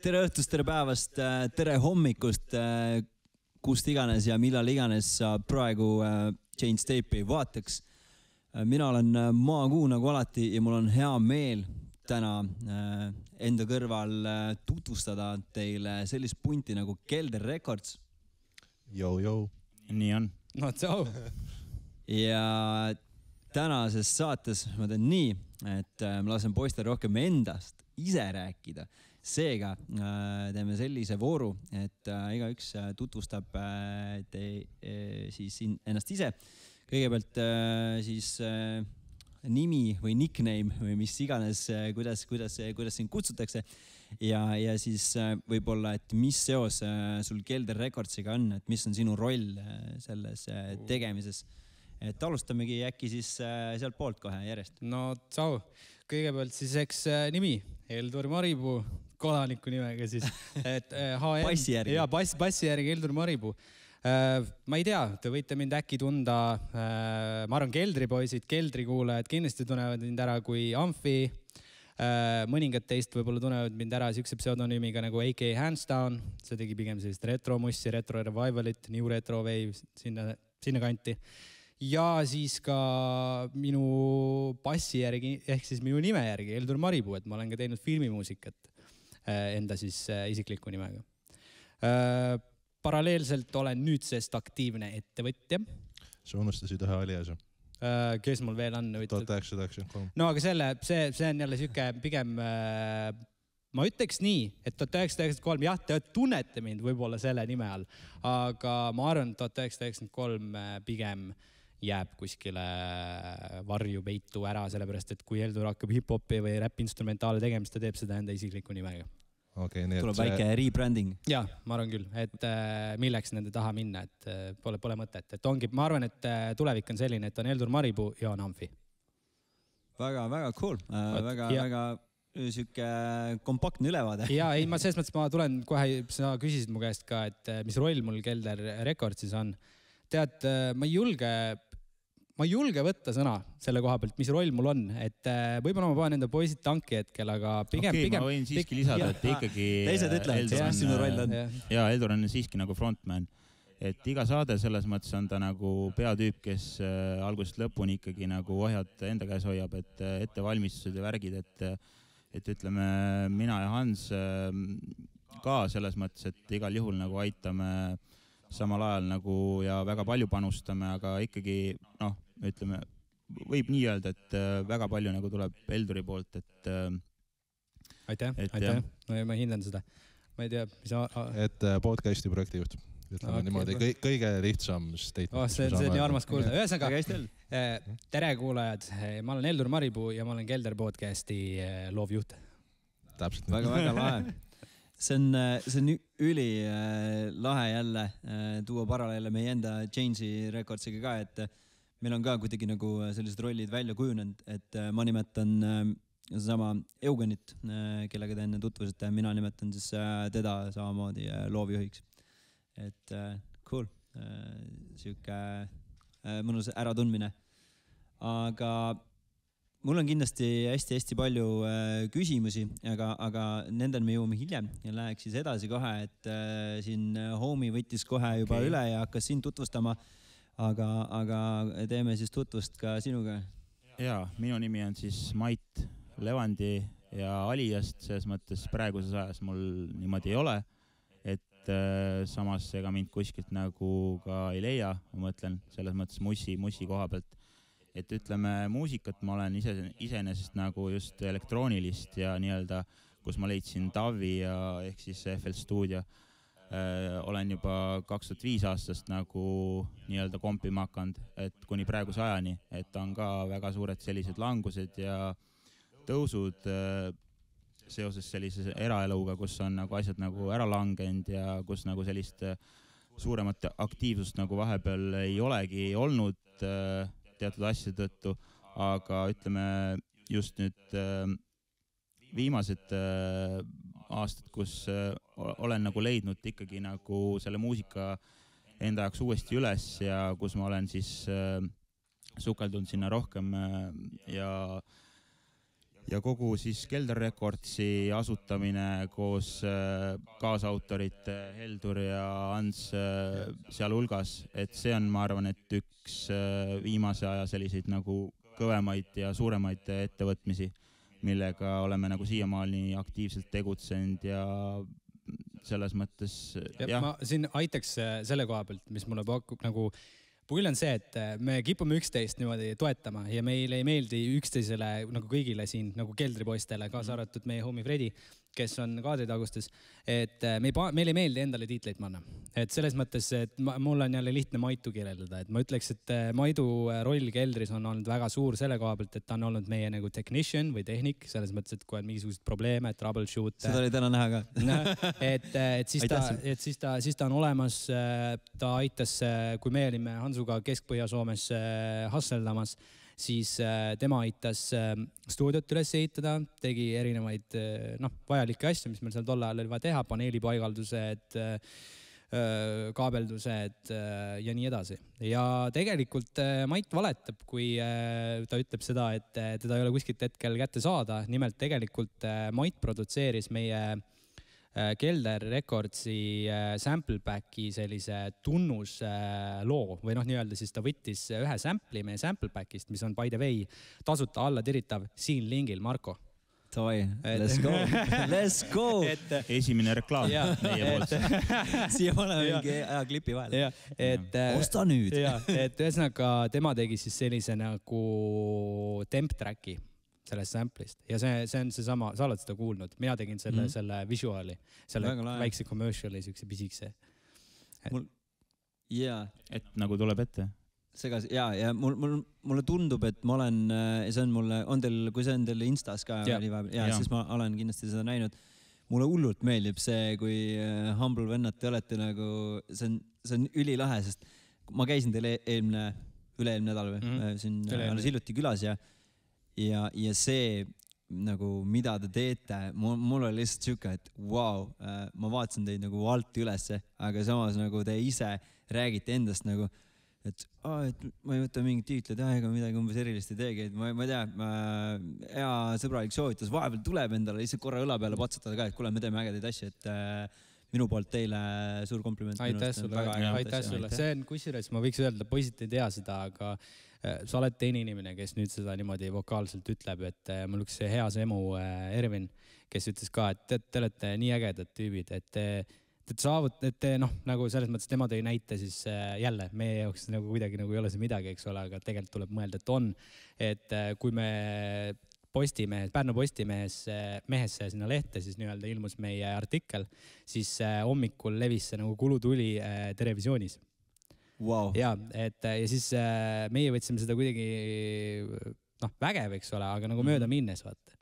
Tere õhtust, tere päevast, tere hommikust, kust iganes ja millal iganes sa praegu Change Tape'i vaataks. Mina olen Maakuu nagu alati ja mul on hea meel täna enda kõrval tutvustada teile sellist punti nagu Kelder Records. Jou. Nii on. No tšau. Ja tänases saates ma teen nii, et ma lasen poistel rohkem endast ise rääkida. Seega teeme sellise vooru, et igaüks tutvustab siis ennast ise. Kõigepealt siis nimi või nickname või mis iganes, kuidas sind kutsutakse. Ja siis võib-olla, et mis seos sul Kelder Recordsiga on, et mis on sinu roll selles tegemises. Et alustamegi äkki siis sealt poolt kohe järjest. No tšau. Kõigepealt siis eks nimi, Heldur Maripuu, kodaniku nimega siis. Passi järgi. Jaa, passi järgi Heldur Maripuu. Ma ei tea, te võite mind äkki tunda, ma arvan Keldri poisid, Keldri kuulajad kindlasti tunnevad mind ära kui Amfi. Mõningad teist võib-olla tunnevad mind ära siukse pseudonüümiga nagu AK Hands Down. See tegi pigem sellist retromussi, retro revivalit, new retro wave sinna kanti. Ja siis ka minu passi järgi, ehk siis minu nime järgi, Heldur Maripuu, et ma olen ka teinud filmimuusikat enda siis isikliku nimega. Paralleelselt olen nüüdsest aktiivne ettevõtja. Sa unustasid ühe aliase. Kes mul veel on? 1993. No aga see on jälle siuke pigem, ma ütleks nii, et 1993, jah, te tunnete mind võib-olla selle nime all, aga ma arvan, 1993 pigem jääb kuskile varju peitu ära, sellepärast, et kui Heldur hakkab hip-hopi või rap-instrumentaale tegemist, ta teeb seda enda isikliku nimega. Okay, tuleb väike rebranding. Jaa, ma arvan küll, et milleks nende taha minna, et pole mõtet. Et ongi, ma arvan, et tulevik on selline, et on Heldur Maripuu ja on Amfi. Väga cool. Väga siuke kompaktne ülevaade. Jaa, ei, selles mõttes ma tulen kohe, sa küsisid mu käest ka, et mis roll mul Kelder Recordsis on. Tead, ma ei julge võtta sõna selle koha pealt, mis roll mul on, et võib-olla ma panen enda poisid tanki hetkel, aga pigem... ma võin siiski lisada, et ikkagi... Teised ütlevad, mis sinu roll on. Jaa, Heldur on siiski nagu frontman. Et iga saade selles mõttes on ta nagu peatüüp, kes algusest lõpuni ikkagi nagu ohjad enda käes hoiab, et ettevalmistused ja värgid, et ütleme, mina ja Hans ka selles mõttes, et igal juhul nagu aitame samal ajal nagu ja väga palju panustame, aga ikkagi, ütleme, võib nii öelda, et väga palju nagu tuleb Helduri poolt, et... Aitäh. No, ma hindan seda. Ma ei tea, mis... Et podcasti projektijuht. Ütleme niimoodi, kõige lihtsam statement. See on nii armas kuulda. Ühesõnaga, tere kuulajad. Ma olen Heldur Maripuu ja ma olen Kelder podcasti loovjuht. Täpselt. Väga lahe. See on üli lahe jälle tuua paralleele meie enda Change'i Recordsiga ka, et meil on ka kuidagi nagu sellised rollid välja kujunenud, et ma nimetan sama Eugenit, kellega te enne tutvusite, mina nimetan siis teda samamoodi loovjuhiks. Et cool, siuke mõnus äratundmine. Aga mul on kindlasti hästi palju küsimusi, aga nendel me jõuame hiljem ja läheks siis edasi kohe, et siin homie võttis kohe juba üle ja hakkas siin tutvustama, aga teeme siis tutvust ka sinuga. Jaa, minu nimi on siis Mait Levandi ja aliast, selles mõttes praeguses ajas mul niimoodi ei ole, et samas ega mind kuskilt nagu ka ei leia, ma mõtlen selles mõttes mussi koha pealt. Et ütleme, muusikat ma olen iseenesest nagu just elektroonilist ja nii-öelda, kus ma leidsin Tavi ja ehk siis FL Studio. Olen juba 2005 aastast nagu nii-öelda kompima hakanud, et kuni praeguse ajani, et on ka väga suured sellised langused ja tõusud seoses sellise eraeluga, kus on nagu asjad nagu ära langenud ja kus nagu sellist suuremat aktiivsust nagu vahepeal ei olegi olnud teatud asjade tõttu, aga ütleme just nüüd viimased aastad, kus olen nagu leidnud ikkagi nagu selle muusika enda jaoks uuesti üles ja kus ma olen siis sukeldunud sinna rohkem ja ja kogu siis Kelder Recordsi asutamine koos kaasautorite Heldur ja Ants sealhulgas, et see on, ma arvan, et üks viimase aja selliseid nagu kõvemaid ja suuremaid ettevõtmisi, millega oleme nagu siiamaani aktiivselt tegutsenud ja selles mõttes ma siin aitaks selle koha pealt, mis mulle pakub nagu pull on see, et me kipume üksteist niimoodi toetama ja meile ei meeldi üksteisele nagu kõigile siin nagu keldripoistele, kaasa arvatud meie homie Fredi, kes on kaadritagustes, et meil ei meeldi endale tiitleid panna. Et selles mõttes, et mul on jälle lihtne Maitu kirjeldada, et ma ütleks, et Maidu roll keldris on olnud väga suur selle koha pealt, et ta on olnud meie nagu technician või tehnik, selles mõttes, et kui on mingisugused probleeme, troubleshoot. Seda oli täna näha ka. siis ta on olemas, ta aitas, kui me olime Hansuga Kesk-Põhja-Soomes husseldamas, siis tema aitas stuudiot üles ehitada, tegi erinevaid vajalikke asju, mis meil seal tol ajal oli vaja teha, paneelipaigaldused, kaabeldused ja nii edasi. Ja tegelikult Mait valetab, kui ta ütleb seda, et teda ei ole kuskilt hetkel kätte saada. Nimelt tegelikult Mait produtseeris meie Kelder Recordsi sample packi sellise tunnusloo või nii-öelda siis ta võttis ühe sample'i meie sample packist, mis on by the way tasuta alla tiritav siin lingil, Marko. Toi, let's go, let's go. Esimene reklaam meie poolt. Siia paneme mingi klipi vahele. Osta nüüd. Et ühesõnaga tema tegi siis sellise nagu temp tracki sellest sample'ist ja see on see sama, sa oled seda kuulnud, mina tegin selle visuaali, selle väikse commerciali, siukse pisikse. Et nagu tuleb ette. Segas, ja mulle tundub, et ma olen, see on mulle, kui see on teil Instas ka, siis ma olen kindlasti seda näinud. Mulle hullult meeldib see, kui Humble vennad te olete nagu, see on ülilahe, sest ma käisin teil üle-eelmine nädal või siin alles hiljuti külas ja see nagu, mida te teete, mul oli lihtsalt siuke, et wow, ma vaatasin teid nagu alt ülesse, aga samas nagu te ise räägite endast nagu, et ma ei võta mingit tiitleid, ega midagi umbes erilist ei teegi, et ma ei tea, hea sõbralik soovitus, vahepeal tuleb endale lihtsalt korra õla peale patsutada ka, et kuule, me teeme ägedaid asju, et minu poolt teile suur kompliment. Aitäh sulle. See on kusjuures, ma võiks öelda, poisid ei tea seda, aga sa oled teine inimene, kes nüüd seda niimoodi vokaalselt ütleb, et mul üks hea emu Ervin, kes ütles ka, et te olete nii ägedad tüübid, et nagu selles mõttes tema tõi näite, siis jälle meie jaoks nagu kuidagi nagu ei ole see midagi, eks ole, aga tegelikult tuleb mõelda, et on, et kui me Pärnu Postimehesse sinna lehte, siis nii-öelda ilmus meie artikkel, siis hommikul levis see nagu kulutuli Terevisioonis. Wow. Ja siis meie võtsime seda kuidagi vägev, eks ole, aga nagu mööda minnes, vaata.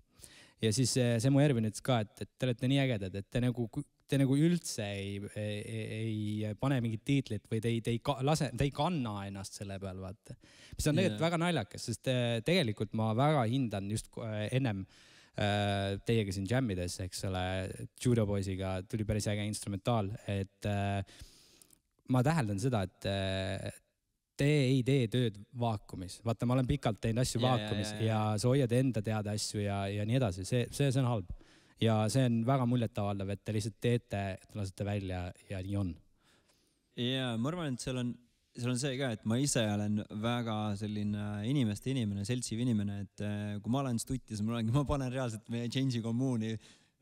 Ja siis see mu Ervin ütles ka, et te olete nii ägedad, et te nagu üldse ei pane mingit tiitlit või te ei kanna ennast selle peal, vaata. Mis on tegelikult väga naljakas, sest tegelikult ma väga hindan just ennem teiega siin jammides, eks ole, Judo Boysiga tuli päris äge instrumentaal, et ma täheldan seda, et te ei tee tööd vaakumis. Vaata, ma olen pikalt teinud asju vaakumis ja sa hoiad enda teada asju ja nii edasi. See on halb. Ja see on väga muljetavaldav, et te lihtsalt teete, et lasete välja ja nii on. Ja ma arvan, et seal on see ka, et ma ise olen väga selline inimene, seltsiv inimene, et kui ma olen stutis, ma panen reaalselt meie Change'i kommuuni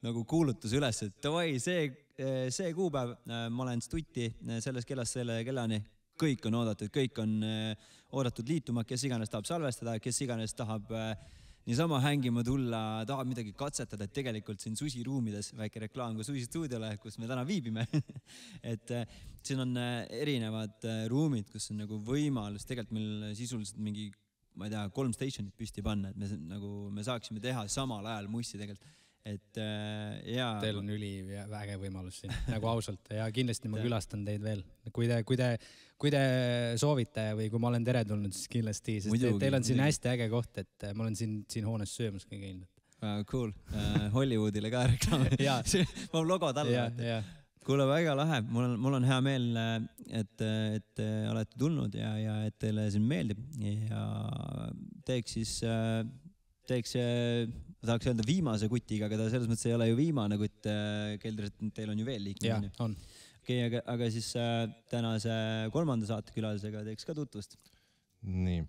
nagu kuulutus üles, et davai, see kuupäev, ma olen stuti selles kellast selle kellani, kõik on oodatud, kõik on oodatud liituma, kes iganes tahab salvestada, kes iganes tahab niisama hängima tulla, tahab midagi katsetada, et tegelikult siin Susi ruumides, väike reklaam ka Susi stuudiole, kus me täna viibime, et siin on erinevad ruumid, kus on nagu võimalus, tegelikult meil sisuliselt mingi, ma ei tea, 3 stationit püsti panna, et me saaksime teha samal ajal mussi tegelikult. Et Teil on väge võimalus siin, nagu ausalt, ja kindlasti ma külastan teid veel. Kui te soovite või kui ma olen tere tulnud, siis kindlasti, sest teil on siin hästi äge koht, et ma olen siin hoones söömas ka käinud. Cool, Hollywoodile ka reklaam. Ma logo talle. Kuule, väga lahe, mul on hea meel, et olete tulnud ja et teile siin meeldib ja teeks tahaks öelda viimase kutiga, aga ta selles mõttes ei ole ju viimane kutt Keldris, et teil on ju veel liikmed. Jah, on. Okei, aga siis tänase 3. saatekülalisega teeks ka tutvust. Nii.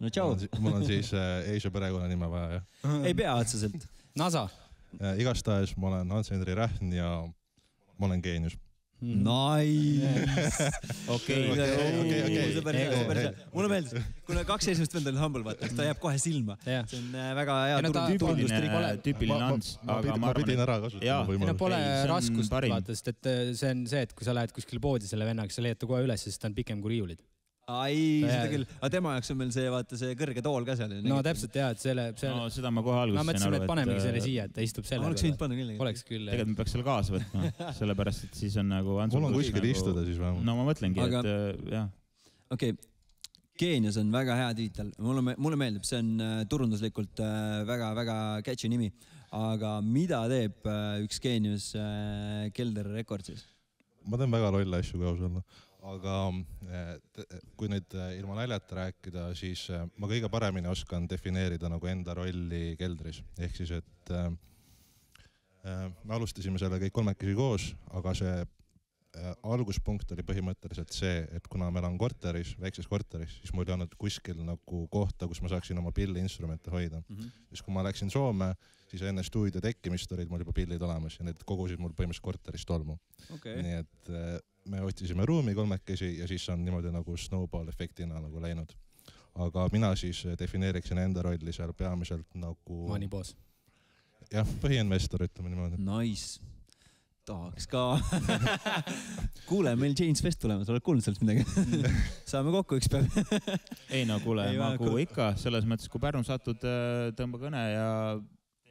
No tšau. Mul on siis Asia perekonnanime vaja, jah? Ei pea otseselt. NASA. Igastahes ma olen Hans-Henri Rähn ja ma olen geenius. Nice. Okei. Mulle meeldis, kuna 2 esimest vend oli humble, vaata, ta jääb kohe silma. See on väga hea tüüpiline Hans. Ma pidin ära kasutama võimalust. Pole raskust, vaata, sest et see on see, et kui sa lähed kuskile poodi selle vennaga, sa leiad ta kohe üles, sest ta on pikem kui riiulid. Seda küll, aga tema jaoks on meil see, vaata, see kõrge tool ka seal. No täpselt jah, et selle... No seda ma kohe alguses ma mõtlesin, et panemegi selle siia, et ta istub selle oleks võinud panna küll. Oleks küll. Tegelikult me peaks selle kaasa võtma, sellepärast, et siis on nagu... Mul on kuskil istuda siis vähemalt. No ma mõtlengi, et jah. Okei, Geenius on väga hea tiitel. Mulle meeldib, see on turunduslikult väga catchy nimi. Aga mida teeb üks Geenius Kelder Recordsis? Ma teen väga lolle asju ka ausalla. Aga kui nüüd ilma naljata rääkida, siis ma kõige paremini oskan defineerida nagu enda rolli Keldris. Ehk siis, et me alustasime selle kõik 3 koos, aga see alguspunkt oli põhimõtteliselt see, et kuna meil on korteris, väikses korteris, siis mul ei olnud kuskil nagu kohta, kus ma saaksin oma pilliinstrumente hoida. Siis kui ma läksin Soome, siis enne stuudio tekkimist olid mul juba pillid olemas ja need kogusid mul põhimõtteliselt korteris tolmu. Nii et me otsisime ruumi 3 ja siis on niimoodi nagu snowball efektina nagu läinud. Aga mina siis defineeriksin enda rolli seal peamiselt nagu... Maniboos. Jah, põhiinvestor, ütleme niimoodi. Nice. Tahaks ka. Kuule, meil James Fest tulemas, oled kuulnud sellest midagi? Saame kokku üks päev. Ei no kuule, Magu ikka, selles mõttes, kui Pärnu satud, tõmba kõne ja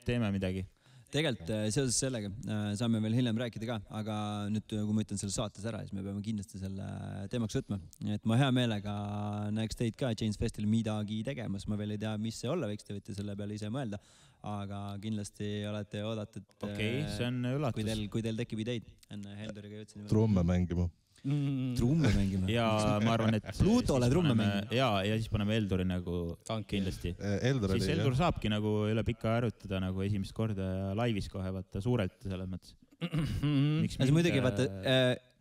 teeme midagi. Tegelikult seoses sellega saame veel hiljem rääkida ka, aga nüüd kui ma ütlen selle saates ära, siis me peame kindlasti selle teemaks võtma. Et ma hea meelega näeks teid ka James Festil midagi tegemas. Ma veel ei tea, mis see olla võiks, te võite selle peale ise mõelda. Aga kindlasti olete oodatud, see on üllatus. Kui teil tekib ideid. Enne Helduriga jõudsin. Trumme mängima. Trumme mängima. Ja ma arvan, et Plutole trumme mängima. Ja siis paneme Helduri nagu kindlasti. Siis Heldur saabki nagu üle pikka harjutada nagu esimest korda ja laivis kohe vaata suurelt selles mõttes. Muidugi vaata,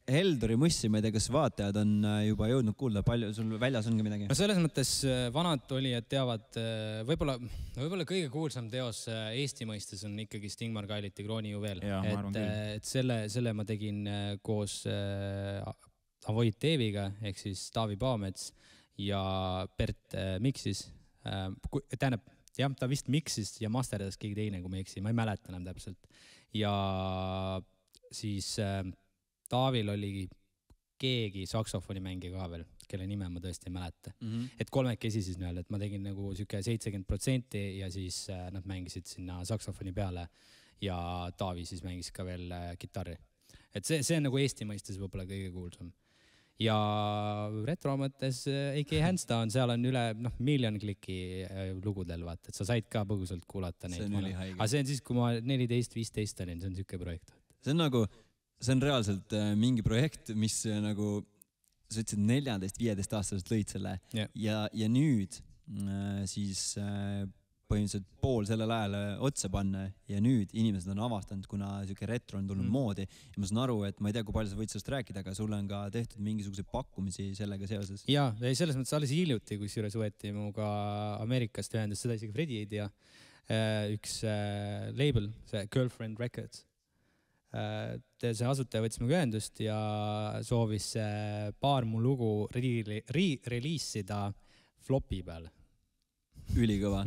Helduri mussi, ma ei tea, kas vaatajad on juba jõudnud kuulda, palju sul väljas ongi midagi? No selles mõttes vanad olijad teavad, võib-olla kõige kuulsam teos Eesti mõistes on ikkagi Stingmar Kailiti Kroonijuvel. Et selle ma tegin koos Avoid Teeviga, ehk siis Taavi Paamets ja Bert Miksis. Tähendab, jah, ta vist Miksis ja masterdas keegi teine, kui ma eksi, ma ei mäleta enam täpselt. Ja siis... Taavil oli keegi saksofonimängija ka veel, kelle nime ma tõesti ei mäleta. Et 3 siis nii, et ma tegin nagu 70% ja siis nad mängisid sinna saksofoni peale ja Taavi siis mängis ka veel kitarri. Et see on nagu Eesti mõistes võib-olla kõige kuulsam. Ja retro mõttes AK Handsdown, seal on üle 1 miljon kliki lugudel, vaata, et sa said ka põgusalt kuulata neid. Aga see on siis, kui ma 14-15 olin, see on siuke projekt. See on reaalselt mingi projekt, mis nagu, sa ütlesid 14-15 aastaselt lõid selle ja nüüd siis põhimõtteliselt pool sellel ajal otsa panna ja nüüd inimesed on avastanud, kuna siuke retro on tulnud moodi ja ma saan aru, et ma ei tea, kui palju sa võid sellest rääkida, aga sulle on ka tehtud mingisuguseid pakkumisi sellega seoses. Jaa, selles mõttes alles hiljuti, kus juures võeti muga Ameerikast ühendus, seda isegi Fredi ei tea, üks label, see Girlfriend Records. See asutaja võttis minuga ühendust ja soovis paar mu lugu reliisida flopi peal. Ülikõva.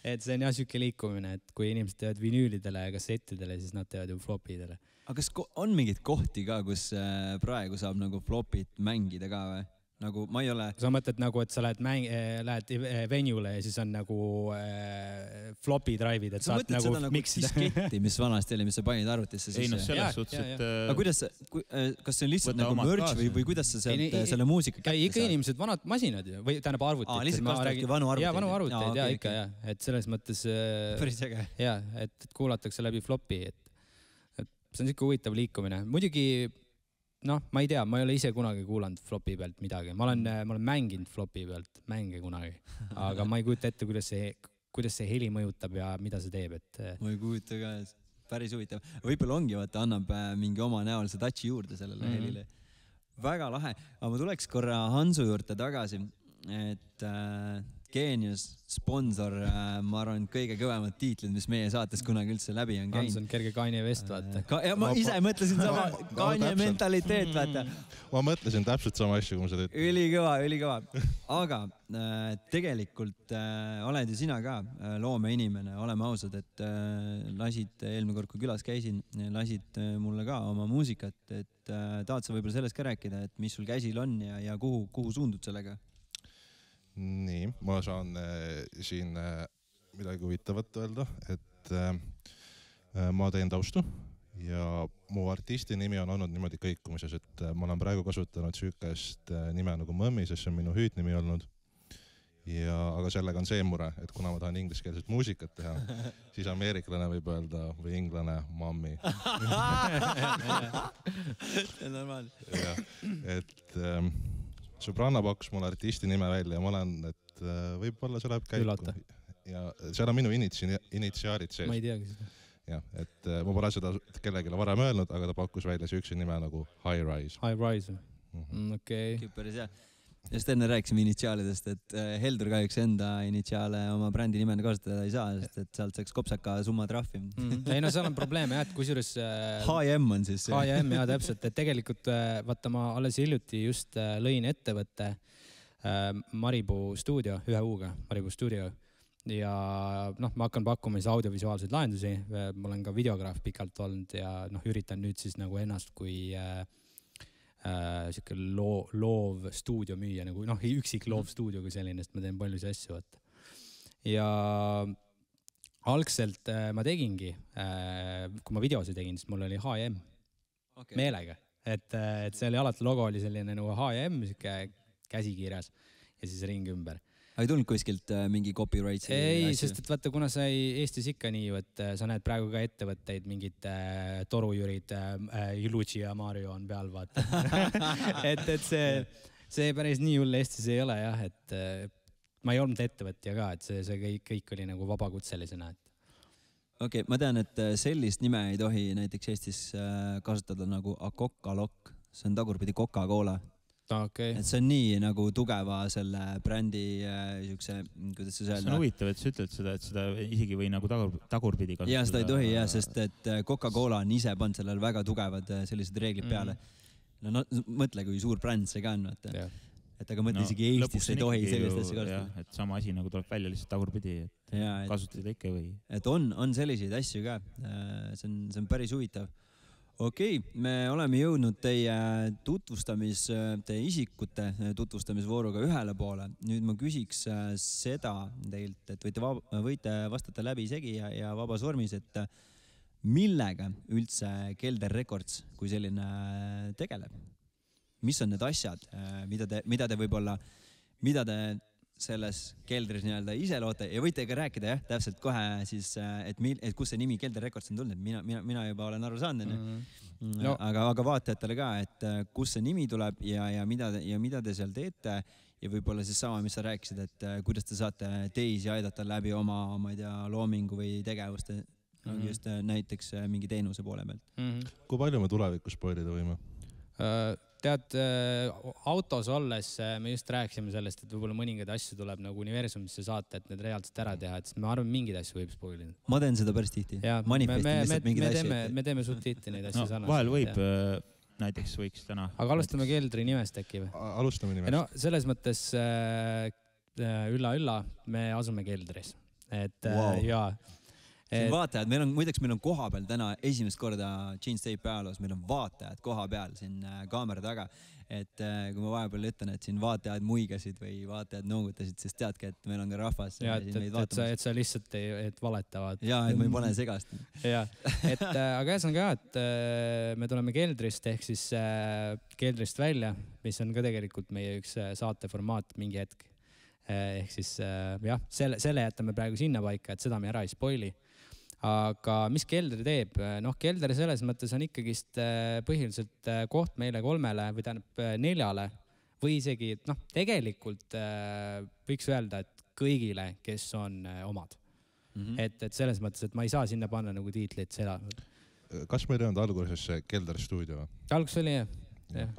Et see on jah siuke liikumine, et kui inimesed teevad vinüülidele ja kassettidele, siis nad teevad ju flopidele. Aga kas on mingid kohti ka, kus praegu saab nagu flopit mängida ka või? Nagu ma ei ole... Sa mõtled nagu, et sa lähed venuele ja siis on nagu floppy drive'id, et saad nagu miksida. Sa mõtled seda nagu disketti, mis vanasti oli, mis sa panid arvutisse sisse? Ei no selles suhtes, et... Aga kuidas, kas see on lihtsalt nagu merch või kuidas sa selle muusika kätte ikka inimesed vanad masinad ju, või tähendab arvutid. Lihtsalt kasutavadki vanu arvuteid? Jaa, vanu arvuteid, jaa, ikka jah. Et selles mõttes... Päris äge. Jaa, et kuulatakse läbi flopi. See on siuke huvitav liikumine. Muidugi... ma ei tea, ma ei ole ise kunagi kuulanud flopi pealt midagi. Ma olen mänginud flopi pealt mänge kunagi, aga ma ei kujuta ette, kuidas see kuidas see heli mõjutab ja mida see teeb, et. Ma ei kujuta ka, päris huvitav. Võib-olla ongi, vaata, annab mingi oma näolise touchi juurde sellele helile. Väga lahe. Aga ma tuleks korra Hansu juurde tagasi, et Geenius, sponsor, ma arvan, kõige kõvemad tiitlid, mis meie saates kunagi üldse läbi on käinud. Hans on kerge Kanye West, vaata. Ja ma ise mõtlesin sama Kanye mentaliteet, vaata. Ma mõtlesin täpselt sama asju, kui ma seda ütlen. Ülikõva. Aga tegelikult oled ju sina ka loomeinimene, oleme ausad, et lasid eelmine kord, kui külas käisin, lasid mulle ka oma muusikat, et tahad sa võib-olla sellest ka rääkida, et mis sul käsil on ja kuhu suundud sellega? Nii, ma saan siin midagi huvitavat öelda, et ma teen taustu ja mu artisti nimi on olnud niimoodi kõikumises, et ma olen praegu kasutanud süükest nime nagu Mõmmi, sest see on minu hüüdnimi olnud. Aga sellega on see mure, et kuna ma tahan ingliskeelset muusikat teha, siis ameeriklane võib öelda või inglane Mommy. See on normaalne. Et sõbranna pakkus mulle artisti nime välja ja ma olen, et võib-olla see läheb käiku. Ülata. Ja seal on minu initsiaalid sees. Ma ei teagi seda. Ja, et ma pole seda kellelegi varem öelnud, aga ta pakkus välja süükse nime nagu High Rise. High Rise. Okei. Päris hea. Just enne rääkisime initsiaalidest, et Heldur kahjuks enda initsiaale oma brändi nimena kasutada ei saa, sest et sealt saaks kopsaka summa trahvi. Ei no seal on probleeme jah, et kusjuures H&M on siis. H&M jah, täpselt, et tegelikult vaata ma alles hiljuti just lõin ettevõtte Maribuu stuudio, 1 U-ga, Maribuu stuudio. Ja ma hakkan pakkuma siis audiovisuaalseid lahendusi, ma olen ka videograaf pikalt olnud ja üritan nüüd siis nagu ennast kui siuke loov stuudio müüa, nagu üksik loov stuudio kui selline, sest ma teen palju asju. Ja algselt ma tegingi, kui ma videosi tegin, siis mul oli H&M meelega, et see oli alati logo oli selline nagu H&M, siuke käsikirjas ja siis ring ümber. Ei tulnud kuskilt mingi copyright? Ei, sest et vaata, kuna sa Eestis ikka nii, et sa näed praegu ka ettevõtteid, mingid torujürid, Luigi ja Mario on peal, vaata. et see päris nii hull Eestis ei ole jah, et ma ei olnud ettevõtja ka, et see kõik oli nagu vabakutselisena. Okei, ma tean, et sellist nime ei tohi näiteks Eestis kasutada nagu Coca-Cola, see on tagurpidi Coca-Cola. Okay. Et see on nii nagu tugeva selle brändi siukse, kuidas sa öelda? See on huvitav, et sa ütled seda, et seda isegi või nagu tagurpidi kasutada. Ja seda ei tohi jah, sest et Coca-Cola on ise pannud sellele väga tugevad sellised reeglid peale. No mõtle, kui suur bränd see ka on. Et aga mõtle isegi Eestis ei tohi sellist asja kasutada. Et sama asi nagu tuleb välja lihtsalt tagurpidi, et kasutada ikka või. Et on selliseid asju ka. See on päris huvitav. Okei, me oleme jõudnud teie isikute tutvustamisvooruga ühele poole. Nüüd ma küsiks seda teilt, et võite vastata läbi segi ja vabas vormis, et millega üldse Kelder Records kui selline tegeleb? Mis on need asjad, mida te võib-olla, mida te selles Keldris nii-öelda ise loote ja võite ka rääkida täpselt kohe siis, et kus see nimi Kelder Records on tulnud, mina juba olen aru saanud, aga vaatajatele ka, et kus see nimi tuleb ja mida te seal teete ja võib-olla siis sama, mis sa rääkisid, et kuidas te saate teisi aidata läbi oma, ma ei tea, loomingu või tegevuste, just näiteks mingi teenuse poole pealt. Kui palju me tulevikus spoilida võime? Tead, autos olles me just rääkisime sellest, et võib-olla mõningad asju tuleb nagu universumisse saata, et need reaalselt ära teha, et ma arvan, mingid asju võib spoilida. Ma teen seda päris tihti. Me teeme suht tihti neid asju sarnaselt. Vahel võib, näiteks võiks täna. Aga alustame Keldri nimest äkki või? Alustame nimest. No selles mõttes ülla, me asume Keldris. Ja vaatajad, muideks meil on koha peal täna esimest korda Gene State ajaloos, meil on vaatajad koha peal siin kaamera taga, et kui ma vahepeal ütlen, et siin vaatajad muigasid või vaatajad noogutasid, siis teadke, et meil on ka rahvas. Ja, et sa lihtsalt et valetavad. Ja, et ma ei pane segast. Ja, aga see on ka, et me tuleme Keldrist ehk siis Keldrist välja, mis on ka tegelikult meie üks saateformaat mingi hetk. Ehk siis jah, selle jätame praegu sinna paika, et seda me ära ei spoili. Aga mis Kelder teeb? Kelder selles mõttes on ikkagist põhiliselt koht meile 3 või tähendab 4 või isegi, tegelikult võiks öelda, et kõigile, kes on omad. et selles mõttes, et ma ei saa sinna panna nagu tiitlit seda. Kas meil ei olnud alguses see Kelder stuudio? Alguses oli jah.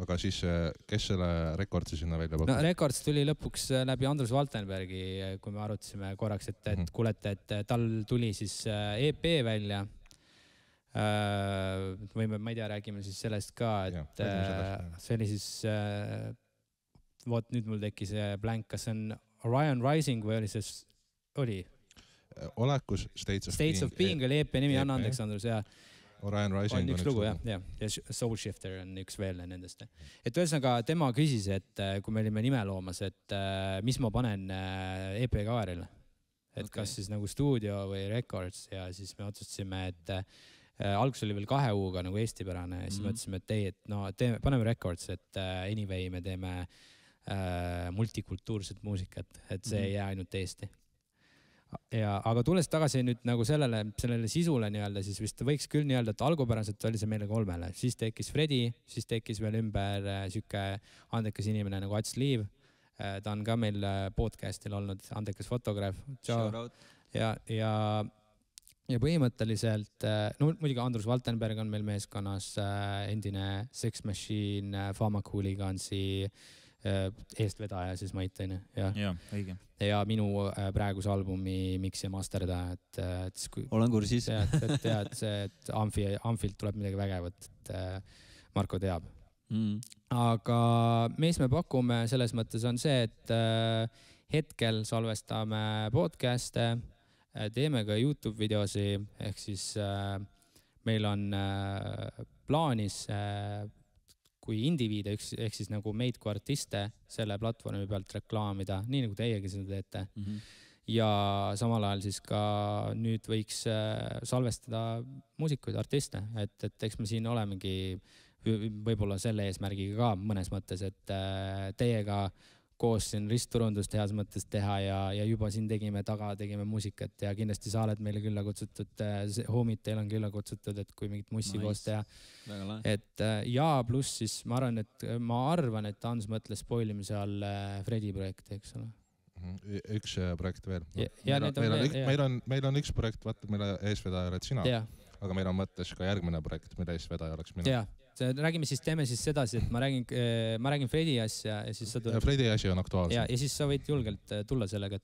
Aga siis kes selle Recordsi sinna välja pakkus? No Records tuli lõpuks läbi Andrus Valtenbergi, kui me arutasime korraks, et kuulete, et tal tuli siis EP välja. Võime, ma ei tea, räägime siis sellest ka, et see oli siis, vot nüüd mul tekkis blank, kas see on Orion Rising või oli see, oli? Olekus States of Being oli EP nimi, anna andeks Andrus, ja Orion Rising on üks lugu, ja Soul Shifter on üks veel nendest. Et ühesõnaga tema küsis, et kui me olime nime loomas, et mis ma panen EP kaarile, et kas siis nagu stuudio või Records, ja siis me otsustasime, et alguses oli veel 2 U-ga nagu eestipärane, ja siis mõtlesime, et ei, et no paneme Records, et anyway me teeme multikultuurset muusikat, et see ei jää ainult Eesti. Ja, aga tulles tagasi nüüd nagu sellele sisule nii-öelda, siis vist võiks küll nii-öelda, et algupäraselt oli see meile 3, siis tekkis Fredi, siis tekkis veel ümber süke andekas inimene nagu Ats Liiv. Ta on ka meil podcastil olnud, andekas fotograaf. Ja põhimõtteliselt, no muidugi Andrus Valtenberg on meil meeskonnas, endine Sex Machine, Pharmacooligansi eestvedaja siis Mait, ja õige. Ja minu praeguse albumi Mix ja Masterda, et olen kursis. et Amfilt tuleb midagi vägevat, et Marko teab. Aga mis me pakume selles mõttes on see, et hetkel salvestame podcast'e, teeme ka YouTube videosi, ehk siis meil on plaanis kui indiviide, ehk siis nagu meid kui artiste selle platvormi pealt reklaamida, nii nagu teiegi seda teete. Ja samal ajal siis ka nüüd võiks salvestada muusikuid, artiste, et eks me siin olemegi võib-olla selle eesmärgiga ka mõnes mõttes, et teiega koos siin ristturundust heas mõttes teha ja juba siin tegime muusikat ja kindlasti sa oled meile külla kutsutud, homid teil on külla kutsutud, et kui mingit mussi koos teha. Et ja pluss siis ma arvan, et Hans mõtles spoilimise all Fredi projekti, eks ole. Üks projekt veel. Meil on üks projekt, vaata, mille eesvedaja oled sina, aga meil on mõttes ka järgmine projekt, mille eesvedaja oleks mina. Räägime siis, teeme siis sedasi, et ma räägin Fredi asja ja siis sa tuled. Fredi asi on aktuaalsem. Ja siis sa võid julgelt tulla sellega.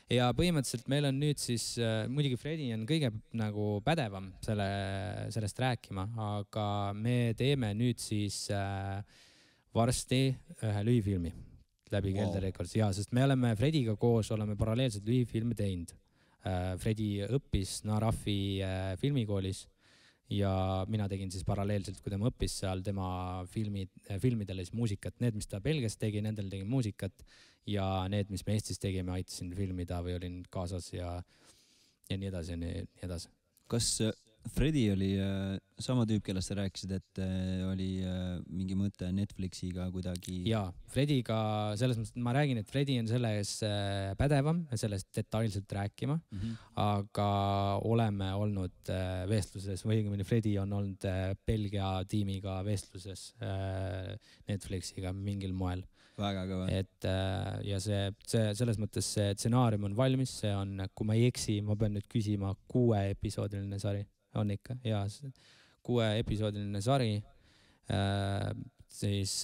Ja põhimõtteliselt meil on nüüd siis, muidugi Fredi on kõige nagu pädevam sellest rääkima, aga me teeme nüüd siis varsti ühe lühifilmi läbi Kelder Records. Ja, sest me oleme Frediga koos, oleme paralleelselt lühifilme teinud. Fredi õppis Narafi filmikoolis. Ja mina tegin siis paralleelselt, kui tema õppis seal tema filmidele siis muusikat. Need, mis ta Belgias tegi, nendel tegin muusikat ja need, mis me Eestis tegime, aitasin filmida või olin kaasas ja nii edasi ja nii edasi. Kas Fredi oli sama tüüp, kellest sa rääkisid, et oli mingi mõte Netflixiga kuidagi? Jaa, Frediga selles mõttes, ma räägin, et Fredi on selles pädevam ja sellest detailselt rääkima, aga oleme olnud vestluses, või õigemini Fredi on olnud Belgia tiimiga vestluses Netflixiga mingil moel. Väga kõva. Et ja see selles mõttes see stsenaarium on valmis, see on, kui ma ei eksi, ma pean nüüd küsima 6-episoodiline sari. On ikka, jaa, 6-episoodiline sari, siis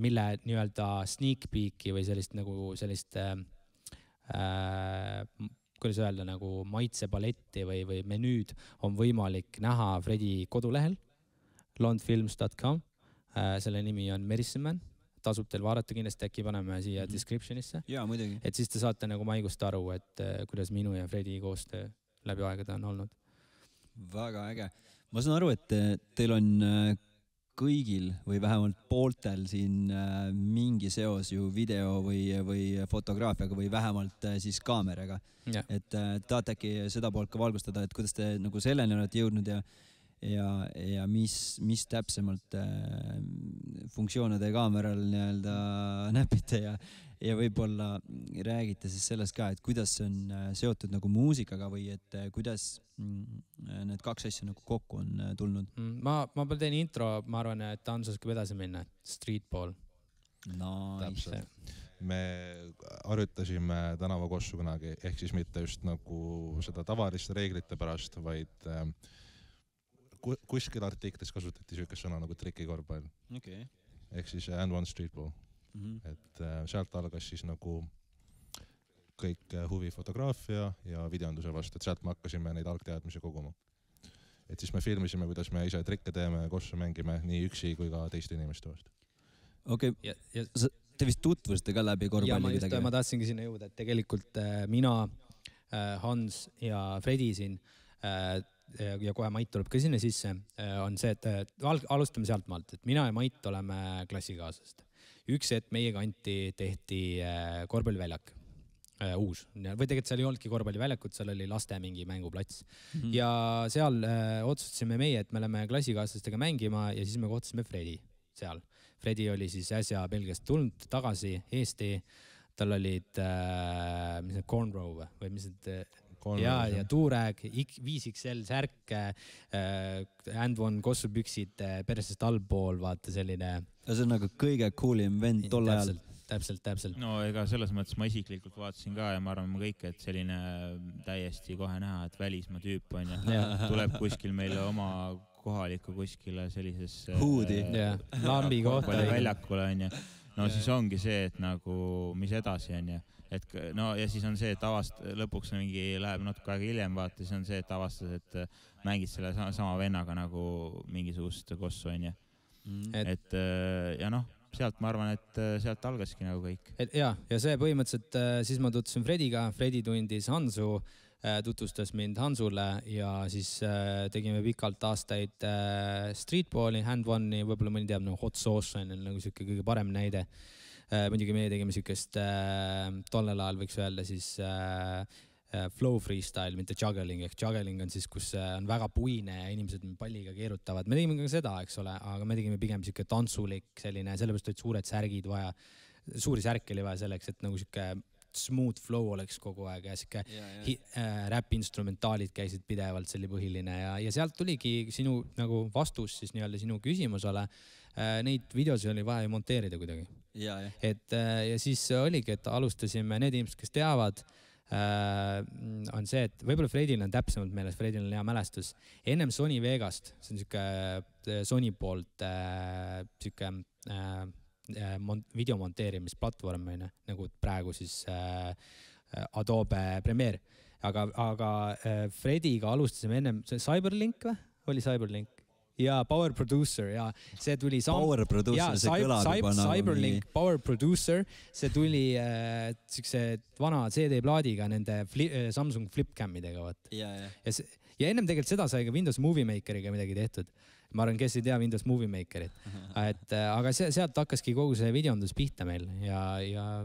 mille nii-öelda sneak peeki või sellist, kuidas öelda, nagu maitsepaletti või menüüd on võimalik näha Fredi kodulehel, londfilms.com, selle nimi on Medicine Man, tasub teil vaadata, kindlasti äkki paneme siia descriptionisse. Jaa, muidugi. Et siis te saate nagu maigust aru, et kuidas minu ja Fredi koostöö läbi aegade on olnud. Väga äge. Ma saan aru, et teil on kõigil või vähemalt pooltel siin mingi seos ju video või fotograafiaga või vähemalt siis kaameraga. Ja. Et tahate äkki seda poolt ka valgustada, et kuidas te nagu selleni olete jõudnud ja mis täpsemalt funktsioone te kaameral nii-öelda näpite ja võib-olla räägite siis sellest ka, et kuidas see on seotud nagu muusikaga või et kuidas need kaks asja nagu kokku on tulnud. Ma teen intro, ma arvan, et Hans oskab edasi minna. Streetball. Nice. me harjutasime tänavakossu kunagi, ehk siis mitte just nagu seda tavaliste reeglite pärast, vaid kuskil artiklis kasutati niisugust sõna nagu trikikorvpall. Okay. Ehk siis and one streetball. Et sealt algas siis nagu kõik huvi fotograafia ja videonduse vastu, et sealt me hakkasime neid algteadmisi koguma. Et siis me filmisime, kuidas me ise trikke teeme, kossu mängime nii üksi kui ka teiste inimeste vastu. Okei, te vist tutvusite ka läbi korvpalli kuidagi? Ma tahtsingi sinna jõuda, et tegelikult mina, Hans ja Fredi siin ja kohe Mait tuleb ka sinna sisse, on see, et alustame sealt maalt, et mina ja Mait oleme klassikaaslased. Üks hetk meie kanti tehti korvpalliväljak, uus. Või tegelikult seal ei olnudki korvpalliväljakut, seal oli laste mingi mänguplats. Ja seal otsustasime meie, et me oleme klassikaaslastega mängima ja siis me kohtusime Fredi seal. Fredi oli siis äsja Belgiast tulnud tagasi Eesti, tal olid cornrow või mis need ja tuurääg, 5XL särk, and one kossupüksid persest allpool, vaata selline. See on nagu kõige coolim vend tol ajal. Täpselt. No ega selles mõttes ma isiklikult vaatasin ka ja ma arvan kõik, et selline täiesti kohe näha, et välismaa tüüp on ja tuleb kuskil meile oma kohaliku kuskile sellises huudi, lambi kohta väljakule on ja no siis ongi see, et nagu mis edasi on ja et no ja siis on see, et lõpuks mingi läheb natuke aega hiljem vaata, siis on see, et avastas, et mängid selle sama vennaga nagu mingisugust kossu on ja et ja noh, sealt ma arvan, et sealt algaski nagu kõik. Ja see põhimõtteliselt siis ma tutvusin Frediga, Fredi tundis Hansu, tutvustas mind Hansule ja siis tegime pikalt aastaid streetballi, hand one'i, võib-olla mõni teab, no hot sauce on nagu siuke kõige parem näide. Muidugi meie tegime siukest tollel ajal võiks öelda siis flow freestyle, mitte juggling, ehk juggling on siis, kus on väga puine ja inimesed palliga keerutavad. Me tegime ka seda, eks ole, aga me tegime pigem siuke tantsulik selline, sellepärast olid suured särgid vaja, suuri särke oli vaja selleks, et nagu siuke smooth flow oleks kogu aeg ja siuke rap-instrumentaalid käisid pidevalt, see oli põhiline ja sealt tuligi sinu nagu vastus siis nii-öelda sinu küsimusele. Neid videosi oli vaja monteerida kuidagi. Ja siis oligi, et alustasime, need inimesed, kes teavad, on see, et võib-olla Fredil on täpsemalt meeles, Fredil on hea mälestus. Ennem Sony Vegast, see on siuke Sony poolt siuke videomonteerimisplatvorm, nagu praegu siis Adobe Premiere. Aga Frediga alustasime ennem Cyberlink või? Oli Cyberlink? Ja Power Producer ja see tuli Power Producer, see kõlab juba nagu Cyberlink Power Producer, see tuli siukse vana CD-plaadiga nende Samsung Flipcamidega. Ja ennem tegelikult seda sai ka Windows Movie Makeriga midagi tehtud. Ma arvan, kes ei tea Windows Movie Makerit. Aga sealt hakkaski kogu see videondus pihta meil ja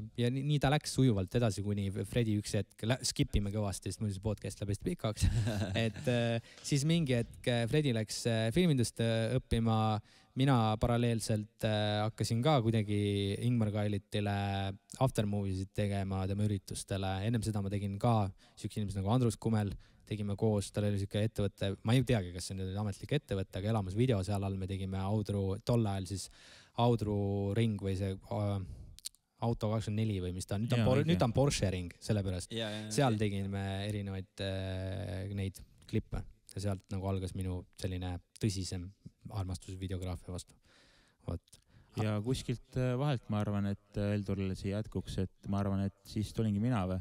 nii ta läks sujuvalt edasi, kuni Fredi üks hetk skipime kõvasti, sest muidu see podcast läheb hästi pikaks. Siis mingi hetk Fredi läks filmindust õppima, mina paralleelselt hakkasin ka kuidagi Ingmar Kailitile aftermoviesid tegema tema üritustele. Ennem seda ma tegin ka siukse inimesed nagu Andrus Kumel, tegime koos, tal oli siuke ettevõte, ma ei teagi, kas see on ametlik ettevõte, aga elamas video seal all me tegime Audru, tol ajal siis Audru ring või see Auto 24 või mis ta on, nüüd ta on Porsche ring, sellepärast. Seal tegime erinevaid neid klippe ja sealt nagu algas minu selline tõsisem armastus videograafia vastu. Ja kuskilt vahelt ma arvan, et Eldurile siia jätkuks, et ma arvan, et siis tulingi mina või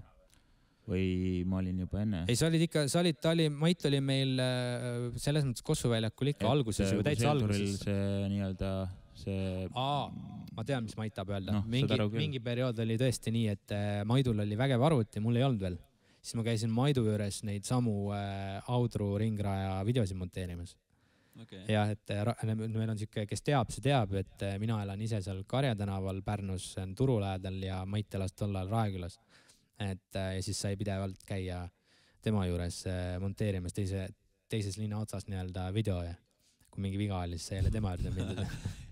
ma olin juba enne? Ei, sa olid ikka, Mait oli meil selles mõttes Kossuväljakul ikka alguses, juba täitsa alguses. See nii-öelda see... Ma tean, mis Mait tahab öelda. Mingi periood oli tõesti nii, et Maidul oli vägev arvuti, mul ei olnud veel. Siis ma käisin Maidu juures neid samu Audru ringraja videosi monteerimas. Ja, et meil on siuke, kes teab, see teab, et mina elan ise seal Karja tänaval Pärnus turu lähedal ja Mait elas tollal Raekülas. Ja siis sai pidevalt käia tema juures monteerimas teises linna otsas nii-öelda video ja kui mingi viga oli, siis sai jälle tema juurde mindud.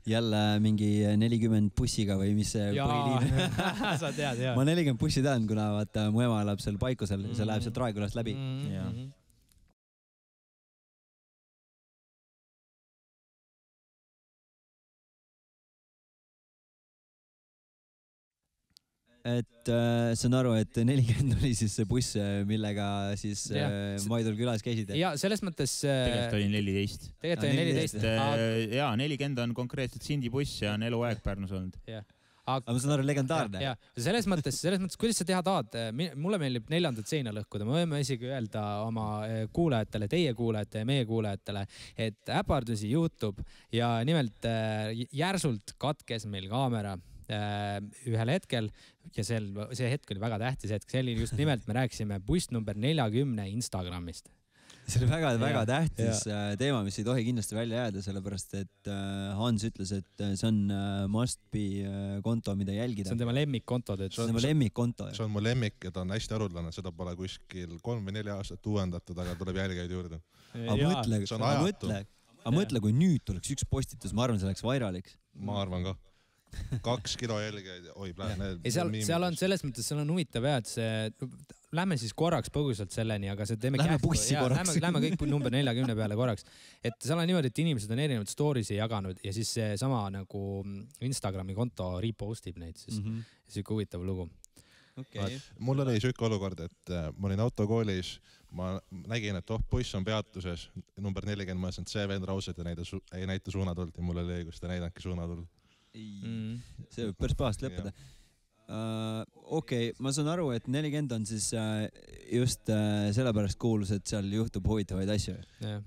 Jälle mingi 40 bussiga või mis see põhiliin? Sa tead, jah. Ma 40 bussi tean, kuna vaata mu ema elab seal Paikusel, see läheb sealt Raekülast läbi. et saan aru, et 40 oli siis see buss, millega siis Maidul külas käisid. Ja selles mõttes... Tegelikult oli 14. Tegelikult oli 14. Jaa, 40 on konkreetselt Sindi buss ja on eluaeg Pärnus olnud. Aga ma saan aru, legendaarne. Ja, selles mõttes, kuidas sa teha tahad, mulle meeldib 4. seina lõhkuda, me võime isegi öelda oma kuulajatele, teie kuulajate ja meie kuulajatele, et äpardusi juhtub ja nimelt järsult katkes meil kaamera ühel hetkel ja see hetk oli väga tähtis hetk, see oli just nimelt, me rääkisime buss number 40 Instagramist. See oli väga tähtis teema, mis ei tohi kindlasti välja jääda, sellepärast et Hans ütles, et see on must be konto, mida jälgida. See on tema lemmikkonto. See on tema lemmikkonto. See on mu lemmik ja ta on hästi arutlane, seda pole kuskil 3 või 4 aastat uuendatud, aga tuleb jälgijaid juurde. Aga mõtle, kui nüüd tuleks üks postitus, ma arvan, see oleks vairaliks. Ma arvan ka. 2 kilo jälgijaid, oi plähe. Seal on selles mõttes, seal on huvitav et see, lähme siis korraks põgusalt selleni, aga see teeme lähme bussi korraks. Lähme kõik number 40 peale korraks. Et seal on niimoodi, et inimesed on erinevad story'si jaganud ja siis see sama nagu Instagrami konto repostib neid siis. Siuke huvitav lugu. Okay. Mul oli siuke olukord, et ma olin autokoolis, ma nägin, et buss on peatuses, number 40, ma ütlesin, et see vend raused ei näita suunatuld ja mul oli õigus, ta näidangi suunatuld. See võib päris pahast lõppeda. Okei, ma saan aru, et 40 on siis just sellepärast kuulus, et seal juhtub huvitavaid asju.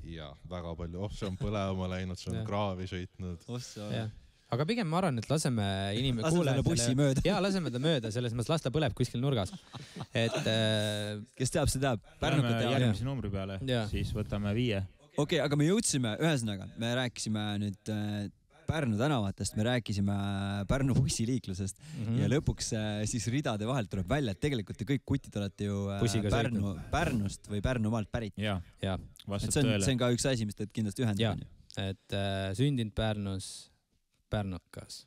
Ja, väga palju. See on põlema läinud, see on kraavi sõitnud. Aga pigem ma arvan, et laseme bussi mööda. Ja, laseme ta mööda, selles mõttes las ta põleb kuskil nurgas. Kes teab, see teab. Läheme järgmise numbri peale, siis võtame 5. Okei, aga me jõudsime, ühesõnaga, me rääkisime nüüd Pärnu tänavatest, me rääkisime Pärnu bussiliiklusest ja lõpuks siis ridade vahelt tuleb välja, et tegelikult te kõik kutid olete ju Pärnust või Pärnumaalt pärit. Ja. See on ka üks asi, mis teid kindlasti ühendab. Et sündinud Pärnus, pärnukas.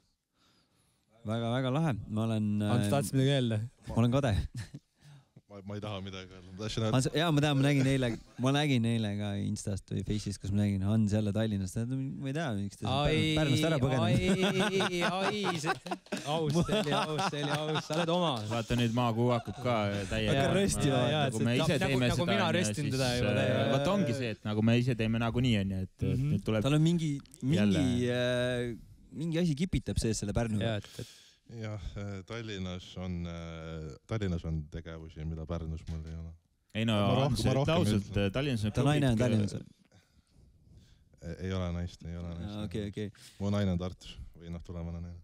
Väga lahe. Ma olen... Ants tahtsid midagi öelda? Ma olen kade. Ma ei taha midagi öelda. Jaa, ma nägin eile ka Instast või Face'ist, kus ma nägin Hans jälle Tallinnast. Ma ei tea, miks ta Pärnust ära põgenud. Aus, see oli aus. Sa oled oma. Vaata nüüd Maakuu hakkub ka täiega. Hakka röstima. Nagu me ise teeme seda. Nagu mina röstin teda juba täiega. Vaata ongi see, et nagu me ise teeme nagu nii on. Tal on mingi asi kipitab sees selle Pärnuga. Jah, Tallinnas on tegevusi, mida Pärnus mul ei ole. Ei no, ausalt, Tallinnas on ta naine on Tallinnas. Ei ole naist. Okay. Mu naine on Tartus või tulemana naine.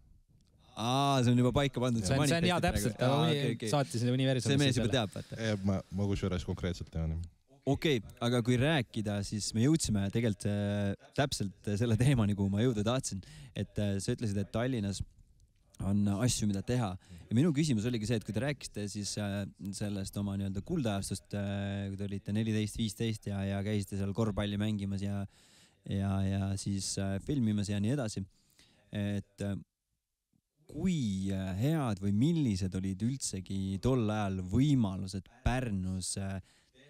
See on juba paika pandud. See on hea täpselt, saatis universumi. See mees juba teab, vaata. Ma kusjuures konkreetselt tean. Okei, aga kui rääkida, siis me jõudsime tegelikult täpselt selle teemani, kuhu ma jõuda tahtsin. Et sa ütlesid, et Tallinnas on asju, mida teha. Ja minu küsimus oligi see, et kui te rääkisite siis sellest oma nii-öelda kuldajastust, kui te olite 14-15 ja käisite seal korvpalli mängimas ja siis filmimas ja nii edasi. Et kui head või millised olid üldsegi tol ajal võimalused Pärnus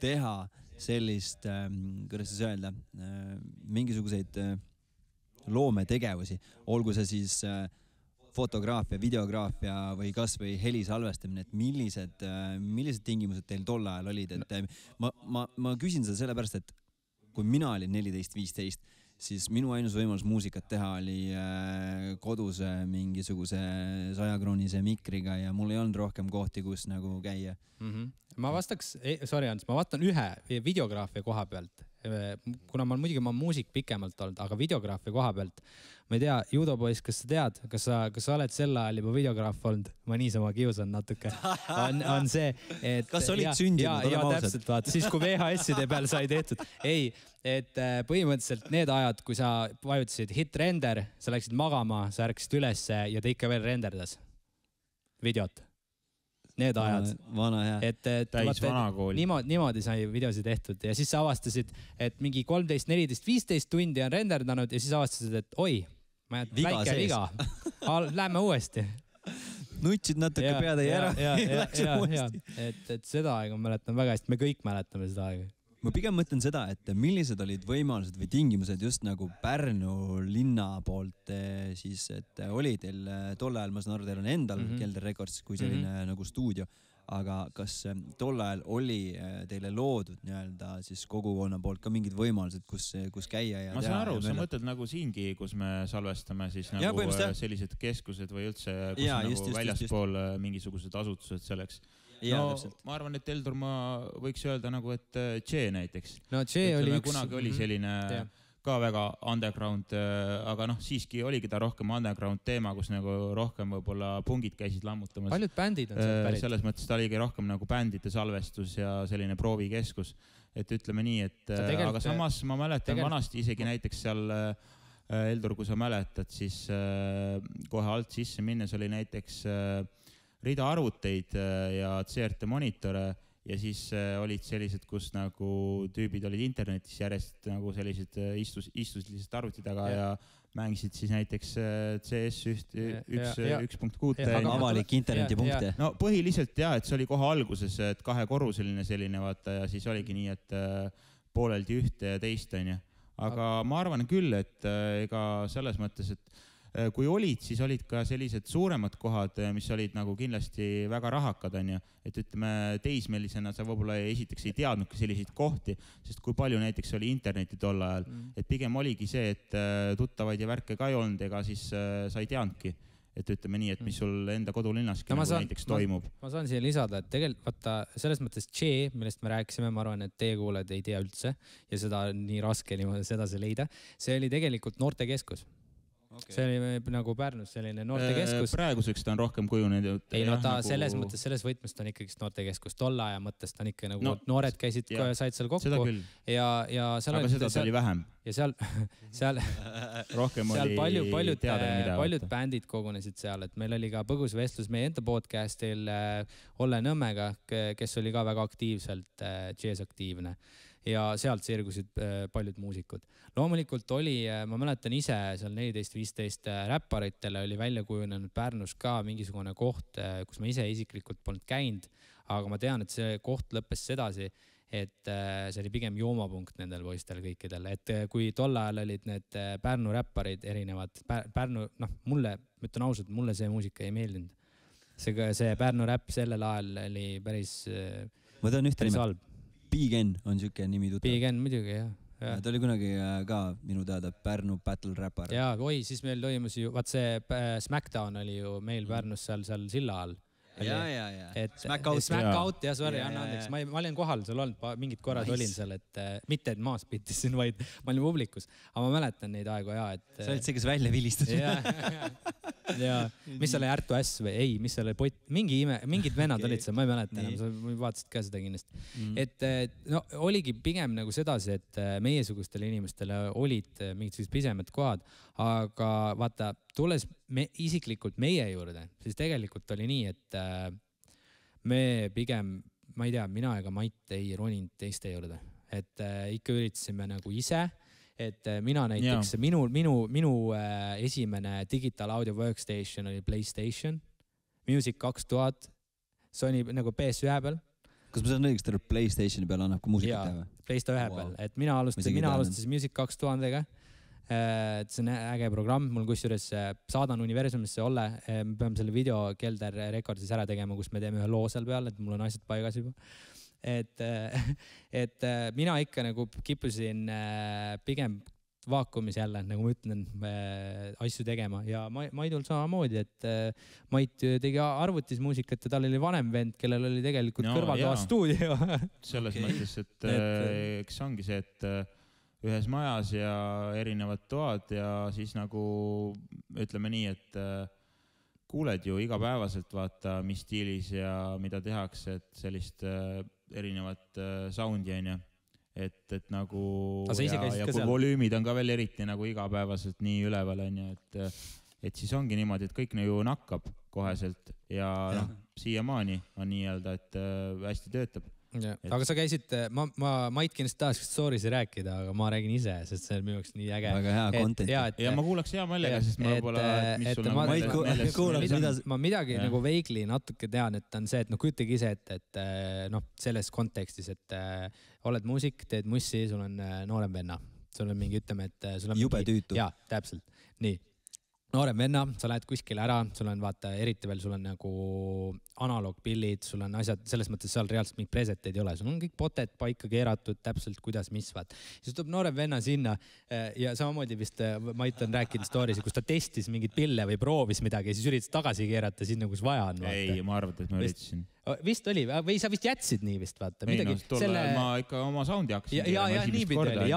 teha sellist, kuidas siis öelda, mingisuguseid loometegevusi, olgu see siis fotograafia, videograafia või kas või helisalvestamine, et millised tingimused teil tol ajal olid, et ma küsin seda sellepärast, et kui mina olin 14-15, siis minu ainus võimalus muusikat teha oli kodus mingisuguse 100-kroonise mikriga ja mul ei olnud rohkem kohti, kus nagu käia. Ma vastaks, sorry Ants, ma vastan ühe videograafia koha pealt, kuna ma muusik pikemalt olnud, aga videograafia koha pealt, ma ei tea, judopoiss, kas sa tead, kas sa oled sel ajal juba videograaf olnud? Ma niisama kiusan natuke. On see, et... Kas sa olid sündinud? Ja täpselt, vaata. Siis kui VHS-ide peal sai tehtud. Ei, et põhimõtteliselt need ajad, kui sa vajutasid hit render, sa läksid magama, sa ärkasid ülesse ja ta ikka veel renderdas videot. Need ajad. Vana hea. Täis vana kool. Niimoodi sai videosi tehtud ja siis sa avastasid, et mingi 13, 14, 15 tundi on renderdanud ja siis avastasid, et oi, väike viga. Lähme uuesti. Nutsid natuke pead ei ära. Et seda aega ma mäletan väga hästi, me kõik mäletame seda aega. ma pigem mõtlen seda, et millised olid võimalused või tingimused just nagu Pärnu linna poolt siis, et oli teil tol ajal, ma saan aru, teil on endal Kelder Records kui selline nagu stuudio, aga kas tol ajal oli teile loodud nii-öelda siis kogukonna poolt ka mingid võimalused, kus käia ja ma saan aru, sa mõtled nagu siingi, kus me salvestame siis nagu sellised keskused või üldse, kus nagu väljaspool mingisugused asutused selleks. No ma arvan, et Eldur ma võiks öelda nagu, et J näiteks. No J oli üks. Kunagi oli selline ka väga underground, aga siiski oligi ta rohkem underground teema, kus nagu rohkem võib-olla pungid käisid lammutamas. Paljud bändid on sealt pärit. Selles mõttes ta oligi rohkem nagu bändide salvestus ja selline proovikeskus. Et ütleme nii, et aga samas ma mäletan vanasti isegi näiteks seal Eldur, kui sa mäletad, siis kohe alt sisse minnes oli näiteks rida arvuteid ja CRT monitore ja siis olid sellised, kus nagu tüübid olid internetis järjest nagu sellised istus lihtsalt arvuti taga ja mängisid siis näiteks CS 1.6. Aga avalik internetipunkte. No põhiliselt et see oli kohe alguses, et kahekorruseline selline vaata ja siis oligi nii, et pooleldi ühte ja teist on ju. Aga ma arvan küll, et ega selles mõttes, et kui olid, siis olid ka sellised suuremad kohad, mis olid nagu kindlasti väga rahakad, on ju. Et ütleme, teismelisena sa võib-olla esiteks ei teadnudki selliseid kohti, sest kui palju näiteks oli interneti tol ajal. Et pigem oligi see, et tuttavaid ja värke ka ei olnud, ega siis sa ei teadnudki. Et ütleme nii, et mis sul enda kodulinnaski nagu näiteks toimub. Ma saan siia lisada, et tegelikult vaata, selles mõttes J, millest me rääkisime, ma arvan, et teie kuuled ei tea üldse ja seda nii raske niimoodi sedasi leida. See oli tegelikult noortekeskus. Okay. See oli nagu Pärnus selline noortekeskus. Praeguseks ta on rohkem kujunenud. Ei, no ta selles mõttes, selles võtmest on ikkagi noortekeskus. Tolle aja mõttes ta on ikka nagu noored käisid, said seal kokku. Ja seal aga seda oli vähem. Ja seal rohkem oli paljud bändid kogunesid seal, et meil oli ka põgus vestlus meie enda podcastil Olle Nõmmega, kes oli ka väga aktiivselt jazz-aktiivne. Ja sealt sirgusid paljud muusikud. Loomulikult oli, ma mäletan ise, seal 14-15 räpparitele oli välja kujunenud Pärnus ka mingisugune koht, kus ma ise isiklikult polnud käinud, aga ma tean, et see koht lõppes sedasi, et see oli pigem joomapunkt nendel poistel kõikidel. Et kui tol ajal olid need Pärnu räpparid erinevad, Pärnu, mulle, ütlen ausalt, mulle see muusika ei meeldinud. See Pärnu räpp sellel ajal oli päris halb. Big N on siuke nimi tuttav. Big N muidugi, jah. Ta oli kunagi ka minu teada Pärnu battle rapper. Ja, siis meil toimus ju, vaat see Smackdown oli ju meil Pärnus seal silla all. Ja. Smack-out, ja sorry, anna andeks. Ma olin kohal, seal olnud mingid korrad olin seal, et mitte et maas pitisin, vaid ma olin publikus. Aga ma mäletan neid aegu, Sa olid see, kes välja vilistas. Ja mis seal oli Ärtu S või ei, mis seal oli mingid vennad olid seal, ma ei mäleta enam, sa vaatasid ka seda kindlasti. Et oligi pigem nagu sedasi, et meiesugustele inimestele olid mingisugused pisemad kohad, aga vaata, tulles isiklikult meie juurde, siis tegelikult oli nii, et me pigem, ma ei tea, mina ega Mait ei roninud teiste juurde, et ikka üritasime nagu ise, et mina näiteks, minu esimene digital audio workstation oli PlayStation, Music 2000, Sony nagu PS1 peal. Kas ma saan õigesti, et PlayStationi peal annab ka muusikat teha? PlayStation 1 peal, et mina alustasin Music 2000-ga. See on äge programm, mul kusjuures saadan universumisse Olle, me peame selle video Kelder Recordsis ära tegema, kus me teeme ühe loo seal peal, et mul on asjad paigas juba. Et mina ikka nagu kippusin pigem vaakumis jälle, nagu ma ütlen, asju tegema ja Maidul samamoodi, et Mait tegi arvutis muusikat ja tal oli vanem vend, kellel oli tegelikult kõrval stuudio. Selles mõttes, et eks ongi see, et ühes majas ja erinevad toad ja siis nagu ütleme nii, et kuuled ju igapäevaselt vaata, mis stiilis ja mida tehakse, et sellist erinevat soundi on ju. Et nagu ja kui volüümid on ka veel eriti nagu igapäevaselt nii üleval on ju, et siis ongi niimoodi, et kõik ju nakkab koheselt ja siiamaani on nii-öelda, et hästi töötab. Aga sa käisid, Mait kindlasti tahaks stories rääkida, aga ma räägin ise, sest see on minu jaoks nii äge. Väga hea content. Ja ma kuulaks hea meelega, sest ma pole, mis sul meeles. Ma midagi nagu veigli natuke tean, et on see, et kujutage ise, et selles kontekstis, et oled muusik, teed mussi, sul on noorem venna. Sul on mingi, ütleme, et sul on jube tüütu. Jaa, täpselt. Nii. Noorem venna, sa lähed kuskile ära, sul on vaata, eriti veel sul on nagu analoogpillid, sul on asjad, selles mõttes seal reaalselt mingid preseteid ei ole, sul on kõik poted paika keeratud, täpselt kuidas, mis vaat. Siis tuleb noorem venna sinna ja samamoodi vist Mait on rääkinud stories, kus ta testis mingit pille või proovis midagi ja siis üritas tagasi keerata sinna, kus vaja on. Vaata. Ei, ma arvan, et ma üritasin. Vist oli, või sa vist jätsid nii vist, vaata. Ei, no, tolle ma ikka oma soundi hakkasin. Ja nii pidi oli.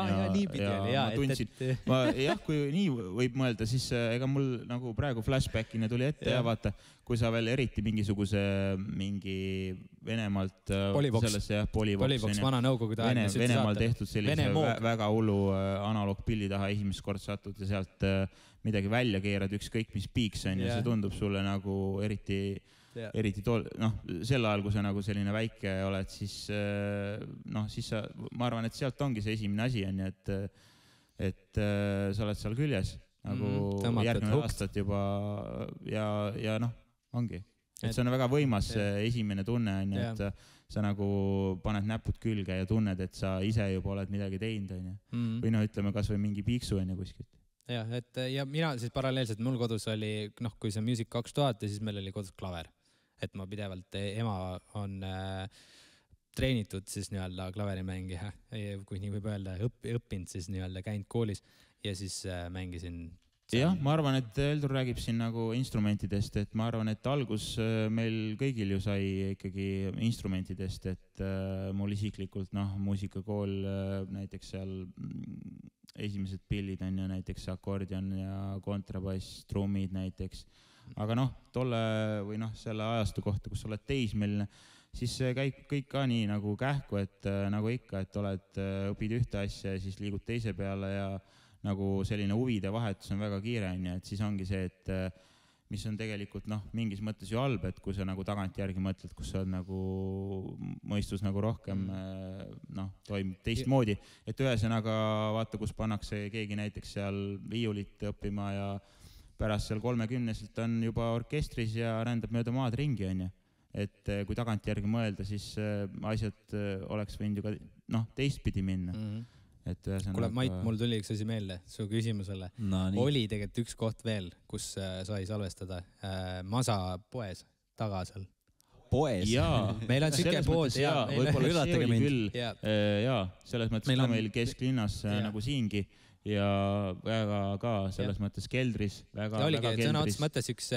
Jah, kui nii võib mõelda, siis ega mul nagu praegu flashbackina tuli ette ja vaata, kui sa veel eriti mingi Venemaalt Polivox, vana nõukogude aeg. Venemaal tehtud sellise väga hullu analoogpilli taha esimest kord satud ja sealt midagi välja keerad, ükskõik mis piiks on ja see tundub sulle nagu eriti sel ajal, kui sa nagu selline väike oled, siis sa, ma arvan, et sealt ongi see esimene asi on, et sa oled seal küljes nagu järgmine aastat juba ja ongi. Et see on väga võimas esimene tunne on, et sa nagu paned näpud külge ja tunned, et sa ise juba oled midagi teinud on. Või ütleme kas või mingi piiksu on kuskilt. Ja mina siis paralleelselt, mul kodus oli, kui see Music 2000 ja siis meil oli kodus klaver. Et ma pidevalt, ema on treenitud siis nii-öelda klaverimängija, kui nii võib öelda, õppinud siis nii-öelda käinud koolis ja siis mängisin. Jah, ma arvan, et Eldur räägib siin nagu instrumentidest, et ma arvan, et algus meil kõigil ju sai ikkagi instrumentidest, et mul isiklikult, muusikakool näiteks seal esimesed pillid on ju näiteks akordion ja kontrabass, trummid näiteks. Aga tolle või selle ajastu kohta, kus oled teismeline, siis käib kõik ka nii nagu kähku, et nagu ikka, et õpid ühte asja ja siis liigud teise peale ja nagu selline huvide vahetus on väga kiire, et siis ongi see, et mis on tegelikult mingis mõttes ju halb, et kui sa nagu tagantjärgi mõtled, kus sa on nagu mõistus nagu rohkem toimub teistmoodi, et ühesõnaga vaata, kus pannakse keegi näiteks seal viiulit õppima ja pärast seal 30-selt on juba orkestris ja rändab mööda maad ringi on. Et kui tagantjärgi mõelda, siis asjad oleks võinud ju ka teistpidi minna. Kuule, Mait, mul tuli üks asi meelde su küsimusele. Oli tegelikult üks koht veel, kus sai salvestada Masa poes taga seal. Poes? Meil on siuke pood. Võib-olla see oli küll. Selles mõttes ka meil kesklinnas nagu siingi ja väga ka selles mõttes keldris. Oligi, sõna otsas mõttes üks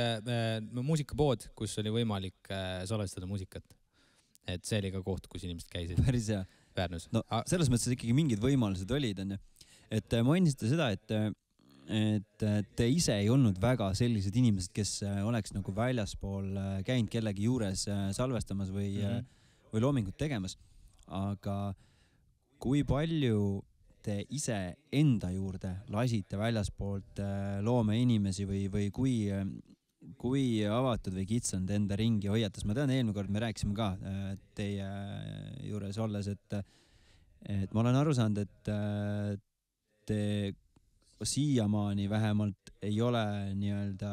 muusikapood, kus oli võimalik salvestada muusikat. Et see oli ka koht, kus inimesed käisid. Päris hea. Väärnus. No, selles mõttes ikkagi mingid võimalused olid. Et mainisite seda, et te ise ei olnud väga sellised inimesed, kes oleks nagu väljaspool käinud kellegi juures salvestamas või loomingut tegemas. Aga kui palju te ise enda juurde lasite väljaspoolt loome inimesi või kui avatud või kitsanud enda ringi hoiatas? Ma tean, eelmine kord me rääkisime ka teie juures olles, et ma olen aru saanud, et te siiamaani vähemalt ei ole nii-öelda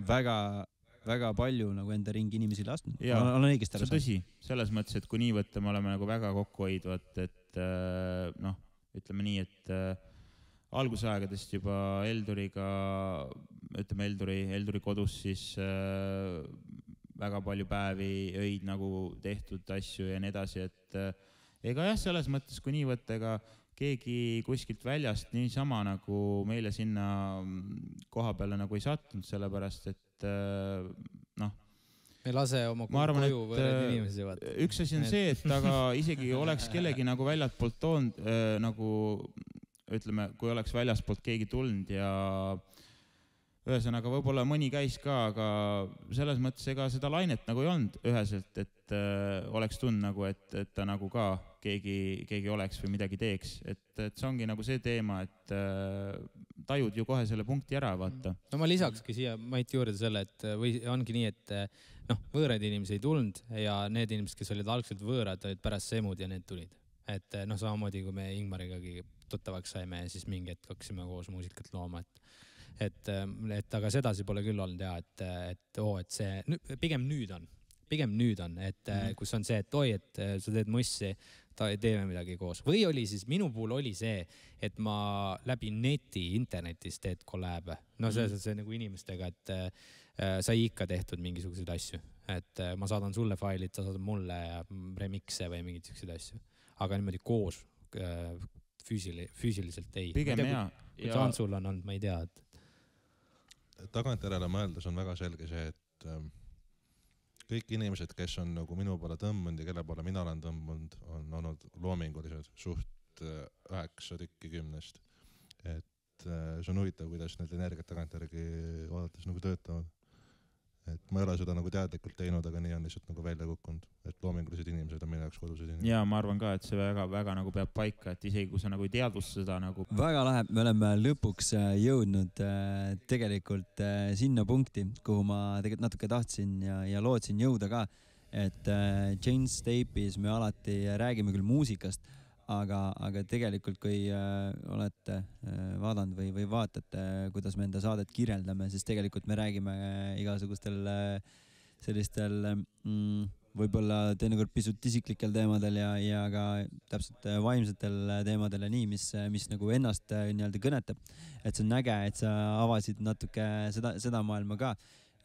väga palju nagu enda ringi inimesi lasknud. Olen õigesti aru saanud? Tõsi, selles mõttes, et kui nii võtta, me oleme nagu väga kokkuhoidvad, et ütleme nii, et algusaegadest juba Elduriga, ütleme Elduri kodus siis väga palju päevi, öid nagu tehtud asju ja nii edasi, et ega jah, selles mõttes, kui nii võtta, ega keegi kuskilt väljast niisama nagu meile sinna koha peale nagu ei sattunud, sellepärast, et me lase oma koju võrred inimesi vaata. Üks asi on see, et aga isegi oleks kellegi nagu väljalt poolt toonud, nagu ütleme, kui oleks väljaspoolt keegi tulnud ja ühesõnaga võib-olla mõni käis ka, aga selles mõttes ega seda lainet nagu ei olnud üheselt, et oleks tund nagu, et ta nagu ka keegi oleks või midagi teeks. Et see ongi nagu see teema, et tajud ju kohe selle punkti ära, vaata. No ma lisakski siia Mait juurde selle, et või ongi nii, et võõraid inimesi ei tulnud ja need inimesed, kes olid algselt võõrad, olid pärast semud ja need tulid. Et samamoodi, kui me Ingmarigagi tuttavaks saime ja siis mingi hetk hakkasime koos muusikat looma, et aga sedasi pole küll olnud ja, et see pigem nüüd on, et kus on see, et et sa teed mussi, teeme midagi koos. Või oli siis, minu puhul oli see, et ma läbi internetis teed kolläbe. No see nagu inimestega, et sai ikka tehtud mingisuguseid asju. Et ma saadan sulle failid, sa saadad mulle ja remikse või mingid sellised asju. Aga niimoodi koos füüsiliselt ei. Pigem hea. Kui Antsul on olnud, ma ei tea. Tagantjärele mõeldes on väga selge see, et kõik inimesed, kes on nagu minu poole tõmbunud ja kelle poole mina olen tõmbunud, on olnud loomingulised suht 9 tükki 10. Et see on huvitav, kuidas need energiat tagantjärgi vaadates nagu töötavad. Et ma ei ole seda nagu teadlikult teinud, aga nii on lihtsalt nagu välja kukkunud. Et loomingulised inimesed on minu jaoks kodused inimesed. Ja ma arvan ka, et see väga nagu peab paika, et isegi kui sa nagu ei teadvusta seda nagu... Väga lahe, me oleme lõpuks jõudnud tegelikult sinna punkti, kuhu ma tegelikult natuke tahtsin ja lootsin jõuda ka. Et Jane's Tape'is me alati räägime küll muusikast, aga tegelikult kui olete vaadanud või vaatate, kuidas me enda saadet kirjeldame, siis tegelikult me räägime igasugustel sellistel võib-olla teinekord pisut isiklikel teemadel ja ka täpselt vaimsetel teemadel ja nii, mis nagu ennast nii-öelda kõnetab. Et see on äge, et sa avasid natuke seda maailma ka.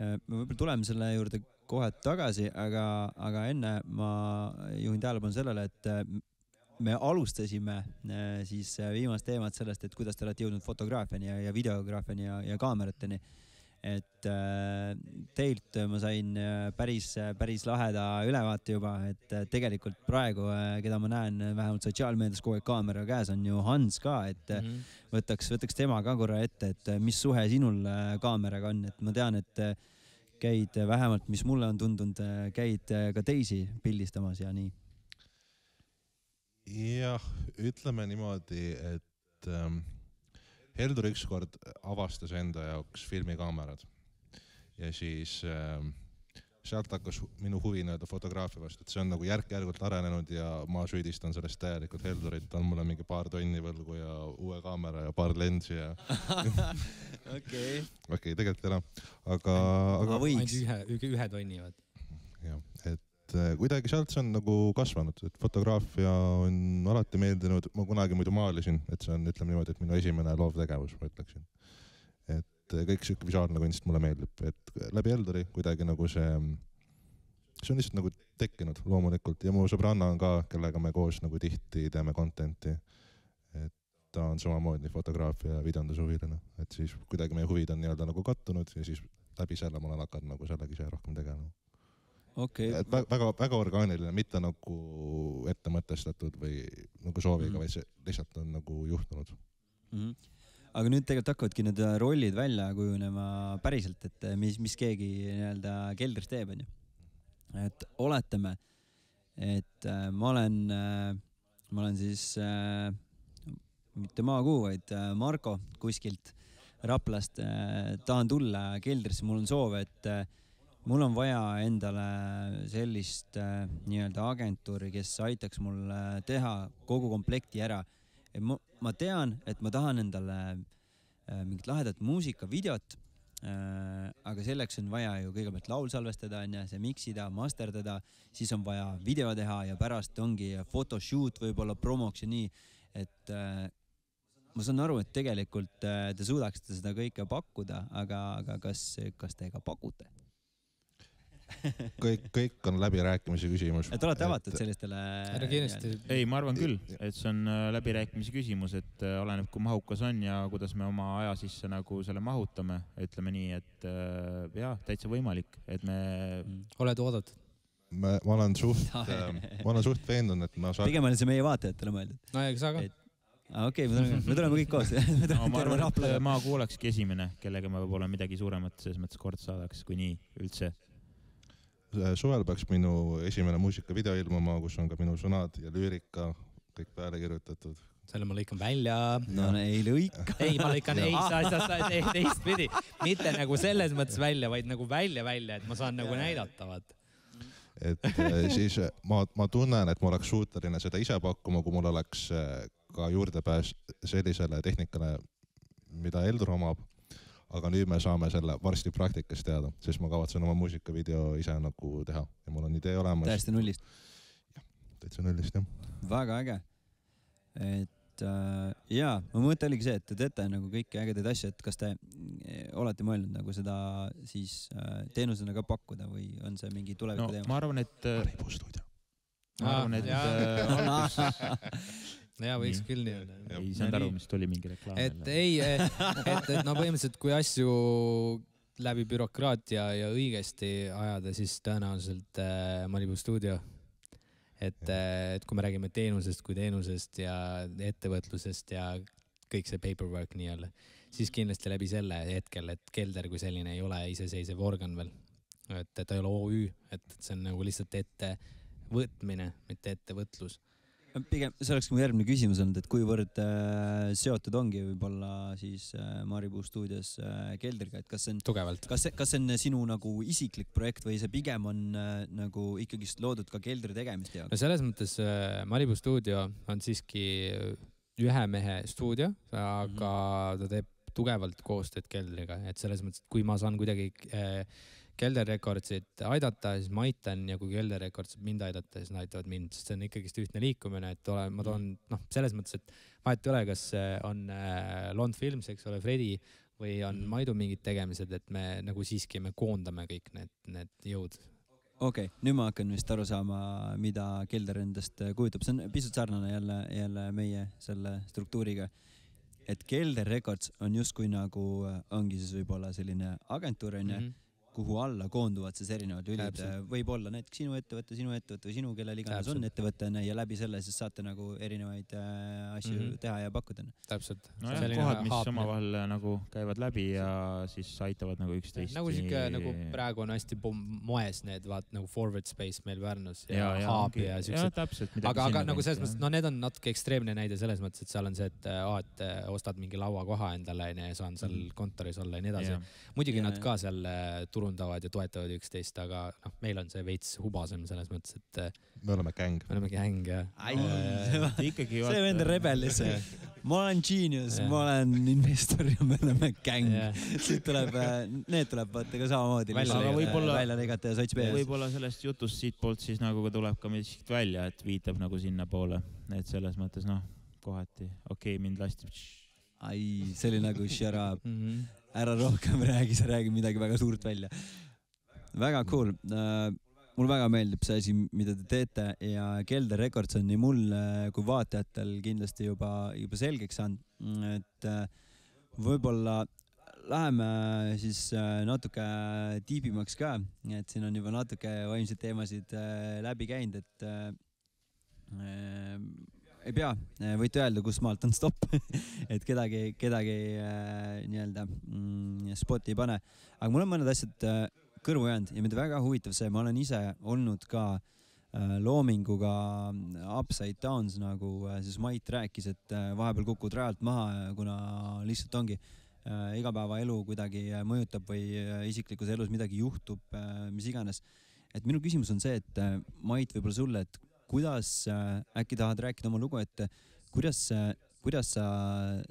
Me võib-olla tuleme selle juurde kohe tagasi, aga enne ma juhin tähelepanu sellele, et me alustasime siis viimast teemat sellest, et kuidas te olete jõudnud fotograafiani ja videograafiani ja kaamerateni. Et teilt ma sain päris laheda ülevaate juba, et tegelikult praegu, keda ma näen vähemalt sotsiaalmeedias kogu aeg kaamera käes, on ju Hans ka, et võtaks tema ka korra ette, et mis suhe sinul kaameraga on, et ma tean, et käid vähemalt, mis mulle on tundunud, käid ka teisi pildistamas ja nii. Jah, ütleme niimoodi, et Heldur ükskord avastas enda jaoks filmikaamerad ja siis sealt hakkas minu huvi fotograafia vastu, et see on nagu järk-järgult arenenud ja ma süüdistan sellest täielikult Heldurit, on mulle mingi paar tonni võlgu ja uue kaamera ja paar lensi ja Okei, tegelikult ei ole, aga võiks. Ühe tonni, vaat. Jah, et kuidagi sealt see on nagu kasvanud, et fotograafia on alati meeldinud, ma kunagi muidu maalisin, et see on, ütleme niimoodi, et minu esimene loovtegevus, ma ütleksin. Et kõik siuke visuaalne kunst mulle meeldib, et läbi Helduri kuidagi nagu see on lihtsalt nagu tekkinud loomulikult ja mu sõbranna on ka, kellega me koos nagu tihti teeme contenti, et ta on samamoodi fotograafia ja videondushuviline, et siis kuidagi meie huvid on nii-öelda nagu kattunud ja siis läbi selle ma olen hakanud nagu sellega ise rohkem tegema. Okay. Et väga orgaaniline, mitte nagu ette mõtestatud või nagu sooviga, vaid see lihtsalt on nagu juhtunud. Aga nüüd tegelikult hakkavadki need rollid välja kujunema päriselt, et mis keegi nii-öelda keldris teeb, on ju. Et oletame, et ma olen siis mitte Maakuu, vaid Marko kuskilt Raplast tahan tulla keldrisse, mul on soov, et mul on vaja endale sellist nii-öelda agentuuri, kes aitaks mul teha kogu komplekti ära. Ma tean, et ma tahan endale mingit lahedat muusikavideot, aga selleks on vaja ju kõigepealt laul salvestada, see miksida, masterdada, siis on vaja video teha ja pärast ongi photoshoot võib-olla promoks ja nii, et ma saan aru, et tegelikult te suudaksite seda kõike pakkuda, aga kas te ka pakute? kõik on läbirääkimise küsimus. Et olete avatud sellistele... Ei, ma arvan küll, et see on läbirääkimise küsimus, et oleneb, kui mahukas on ja kuidas me oma aja sisse nagu selle mahutame, ütleme nii, et jah, täitsa võimalik, et me... Oled oodatud? Ma olen suht veendunud, et ma saan... Pigem on see meie vaatajatele mõeldud. No ja sa ka? Okei, me tuleme kõik koos. Ma arvan, et Maakuu olekski esimene, kellega ma võib-olla midagi suuremat selles mõttes kord saadaks, kui nii üldse. Suvel peaks minu esimene muusikavideo ilmuma, kus on ka minu sõnad ja lüürika kõik peale kirjutatud. selle ma lõikan välja. No ei lõika. Ei, ma lõikan teistpidi. Mitte nagu selles mõttes välja, vaid nagu välja, et ma saan nagu näidata, vaata. Et siis ma tunnen, et ma oleks suuteline seda ise pakkuma, kui mul oleks ka juurdepääs sellisele tehnikale, mida Eldur omab. Aga nüüd me saame selle varsti praktikas teada, sest ma kavatsen oma muusikavideo ise nagu teha ja mul on idee olemas. Täiesti nullist? Jah, täitsa nullist, jah. Väga äge. Et jaa, ma mõte oligi see, et te teete nagu kõiki ägedaid asju, et kas te olete mõelnud nagu seda siis teenusena ka pakkuda või on see mingi tuleviku teema? Ma arvan, et ja võiks küll nii. Ei saanud aru, mis tuli mingi reklaam. Et no põhimõtteliselt, kui asju läbi bürokraatia ja õigesti ajada, siis tõenäoliselt Malibu stuudio. Et kui me räägime teenusest ja ettevõtlusest ja kõik see paperwork nii-öelda, siis kindlasti läbi selle hetkel, et Kelder kui selline ei ole iseseisev organ veel. Et ta ei ole OÜ, et see on nagu lihtsalt ettevõtmine, mitte ettevõtlus. Pigem, see oleks mu järgmine küsimus olnud, et kuivõrd seotud ongi võib-olla siis Maribu stuudios Keldriga, et kas see on, tugevalt. Kas see on sinu nagu isiklik projekt või see pigem on nagu ikkagist loodud ka Keldri tegemist jaoks? No selles mõttes Maribu stuudio on siiski ühe mehe stuudio, aga ta teeb tugevalt koostööd Keldriga, et selles mõttes, et kui ma saan kuidagi Kelder Recordsit aidata, siis ma aitan ja kui Kelder Records mind aidata, siis nad aitavad mind, sest see on ikkagist ühtne liikumine, et ma toon, selles mõttes, et vahet ei ole, kas on Lond Films, eks ole, Fredi või on Maidu mingid tegemised, et me nagu siiski me koondame kõik need jõud. Okei, nüüd ma hakkan vist aru saama, mida Kelder endast kujutab. See on pisut sarnane jälle meie selle struktuuriga, et Kelder Records on justkui nagu ongi siis võib-olla selline agentuur, kuhu alla koonduvad siis erinevad lülid. Võib olla näiteks sinu ettevõtte või sinu, kellel iganes on ettevõttena ja läbi selle siis saate nagu erinevaid asju teha ja pakkuda. Täpselt. No jah, kohad, mis omavahel nagu käivad läbi ja siis aitavad nagu üksteist. Nagu siuke, nagu praegu on hästi moes need, vaat nagu Forward Space meil Värnus ja Haabi ja siuksed. Aga nagu selles mõttes, need on natuke ekstreemne näide selles mõttes, et seal on see, et ostad mingi lauakoha endale ja saan seal kontoris olla ja nii edasi. Muidugi nad ka seal turundavad ja toetavad üksteist, aga meil on see veits hubasem selles mõttes, et me oleme gäng. Me oleme gäng, jah. See vend rebelis. Ma olen genius, ma olen investor ja me oleme gäng. Siit tuleb, need tuleb vaata ka samamoodi välja legata ja sots pees. Võib-olla sellest jutust siit poolt siis nagu tuleb ka miskit välja, et viitab nagu sinna poole. Et selles mõttes, kohati, mind lasti. See oli nagu shut up. Ära rohkem räägi, sa räägi midagi väga suurt välja. Väga cool. Mul väga meeldib see asi, mida te teete ja Kelder Records on nii mul kui vaatajatel kindlasti juba selgeks saanud, et võib-olla läheme siis natuke tiibimaks ka, et siin on juba natuke vaimseid teemasid läbi käinud, et ei pea, võite öelda, kus maalt on stopp, et kedagi nii-öelda spoti ei pane. Aga mul on mõned asjad kõrvu jäänud ja mida väga huvitav see, ma olen ise olnud ka loominguga upside downs, nagu siis Mait rääkis, et vahepeal kukud rajalt maha, kuna lihtsalt ongi igapäevaelu kuidagi mõjutab või isiklikus elus midagi juhtub, mis iganes. Et minu küsimus on see, et Mait võib-olla sulle, et kuidas äkki tahad rääkida oma lugu, et kuidas sa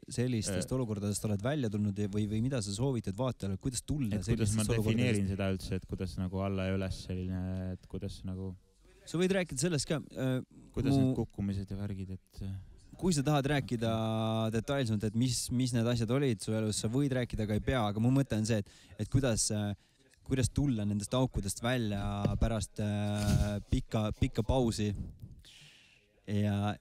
sellistest olukordadest oled välja tulnud või mida sa soovitad vaatajale, kuidas tulla sellistest olukordadest? Kuidas ma defineerin seda üldse, et kuidas nagu alla ja üles selline, et kuidas nagu... Sa võid rääkida sellest ka. Kuidas need kukkumised ja värgid, et... Kui sa tahad rääkida detailsemalt, et mis need asjad olid su elus, sa võid rääkida, aga ei pea, aga mu mõte on see, et kuidas tulla nendest aukudest välja pärast pikka pausi ja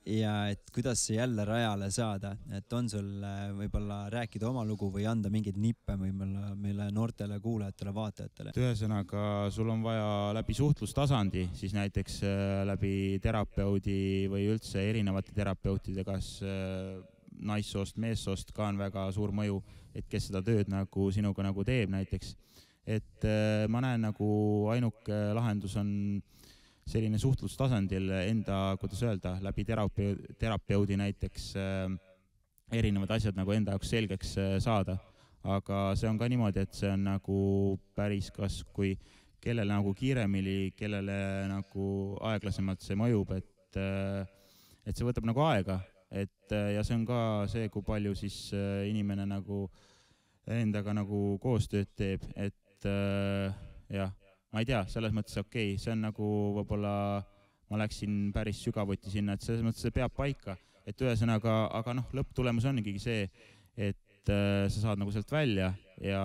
et kuidas jälle rajale saada, et on sul võib-olla rääkida oma lugu või anda mingeid nippe võib-olla meile noortele kuulajatele, vaatajatele. Ühesõnaga, sul on vaja läbi suhtlustasandi, siis näiteks läbi terapeudi või üldse erinevate terapeutide, kas naissoost, meessoost ka on väga suur mõju, et kes seda tööd nagu sinuga nagu teeb näiteks. Et ma näen nagu ainuke lahendus on selline suhtlustasandil enda, kuidas öelda, läbi terapeudi näiteks erinevad asjad nagu enda jaoks selgeks saada. Aga see on ka niimoodi, et see on nagu päris kas kui kellele nagu kiiremini, kellele nagu aeglasemalt see mõjub, et see võtab nagu aega, ja see on ka see, kui palju siis inimene nagu endaga nagu koostööd teeb, et jah, ma ei tea, selles mõttes okei, see on nagu võib-olla ma läksin päris sügavuti sinna, et selles mõttes see peab paika, et ühesõnaga, aga noh, lõpptulemus on ikkagi see, et sa saad nagu sealt välja ja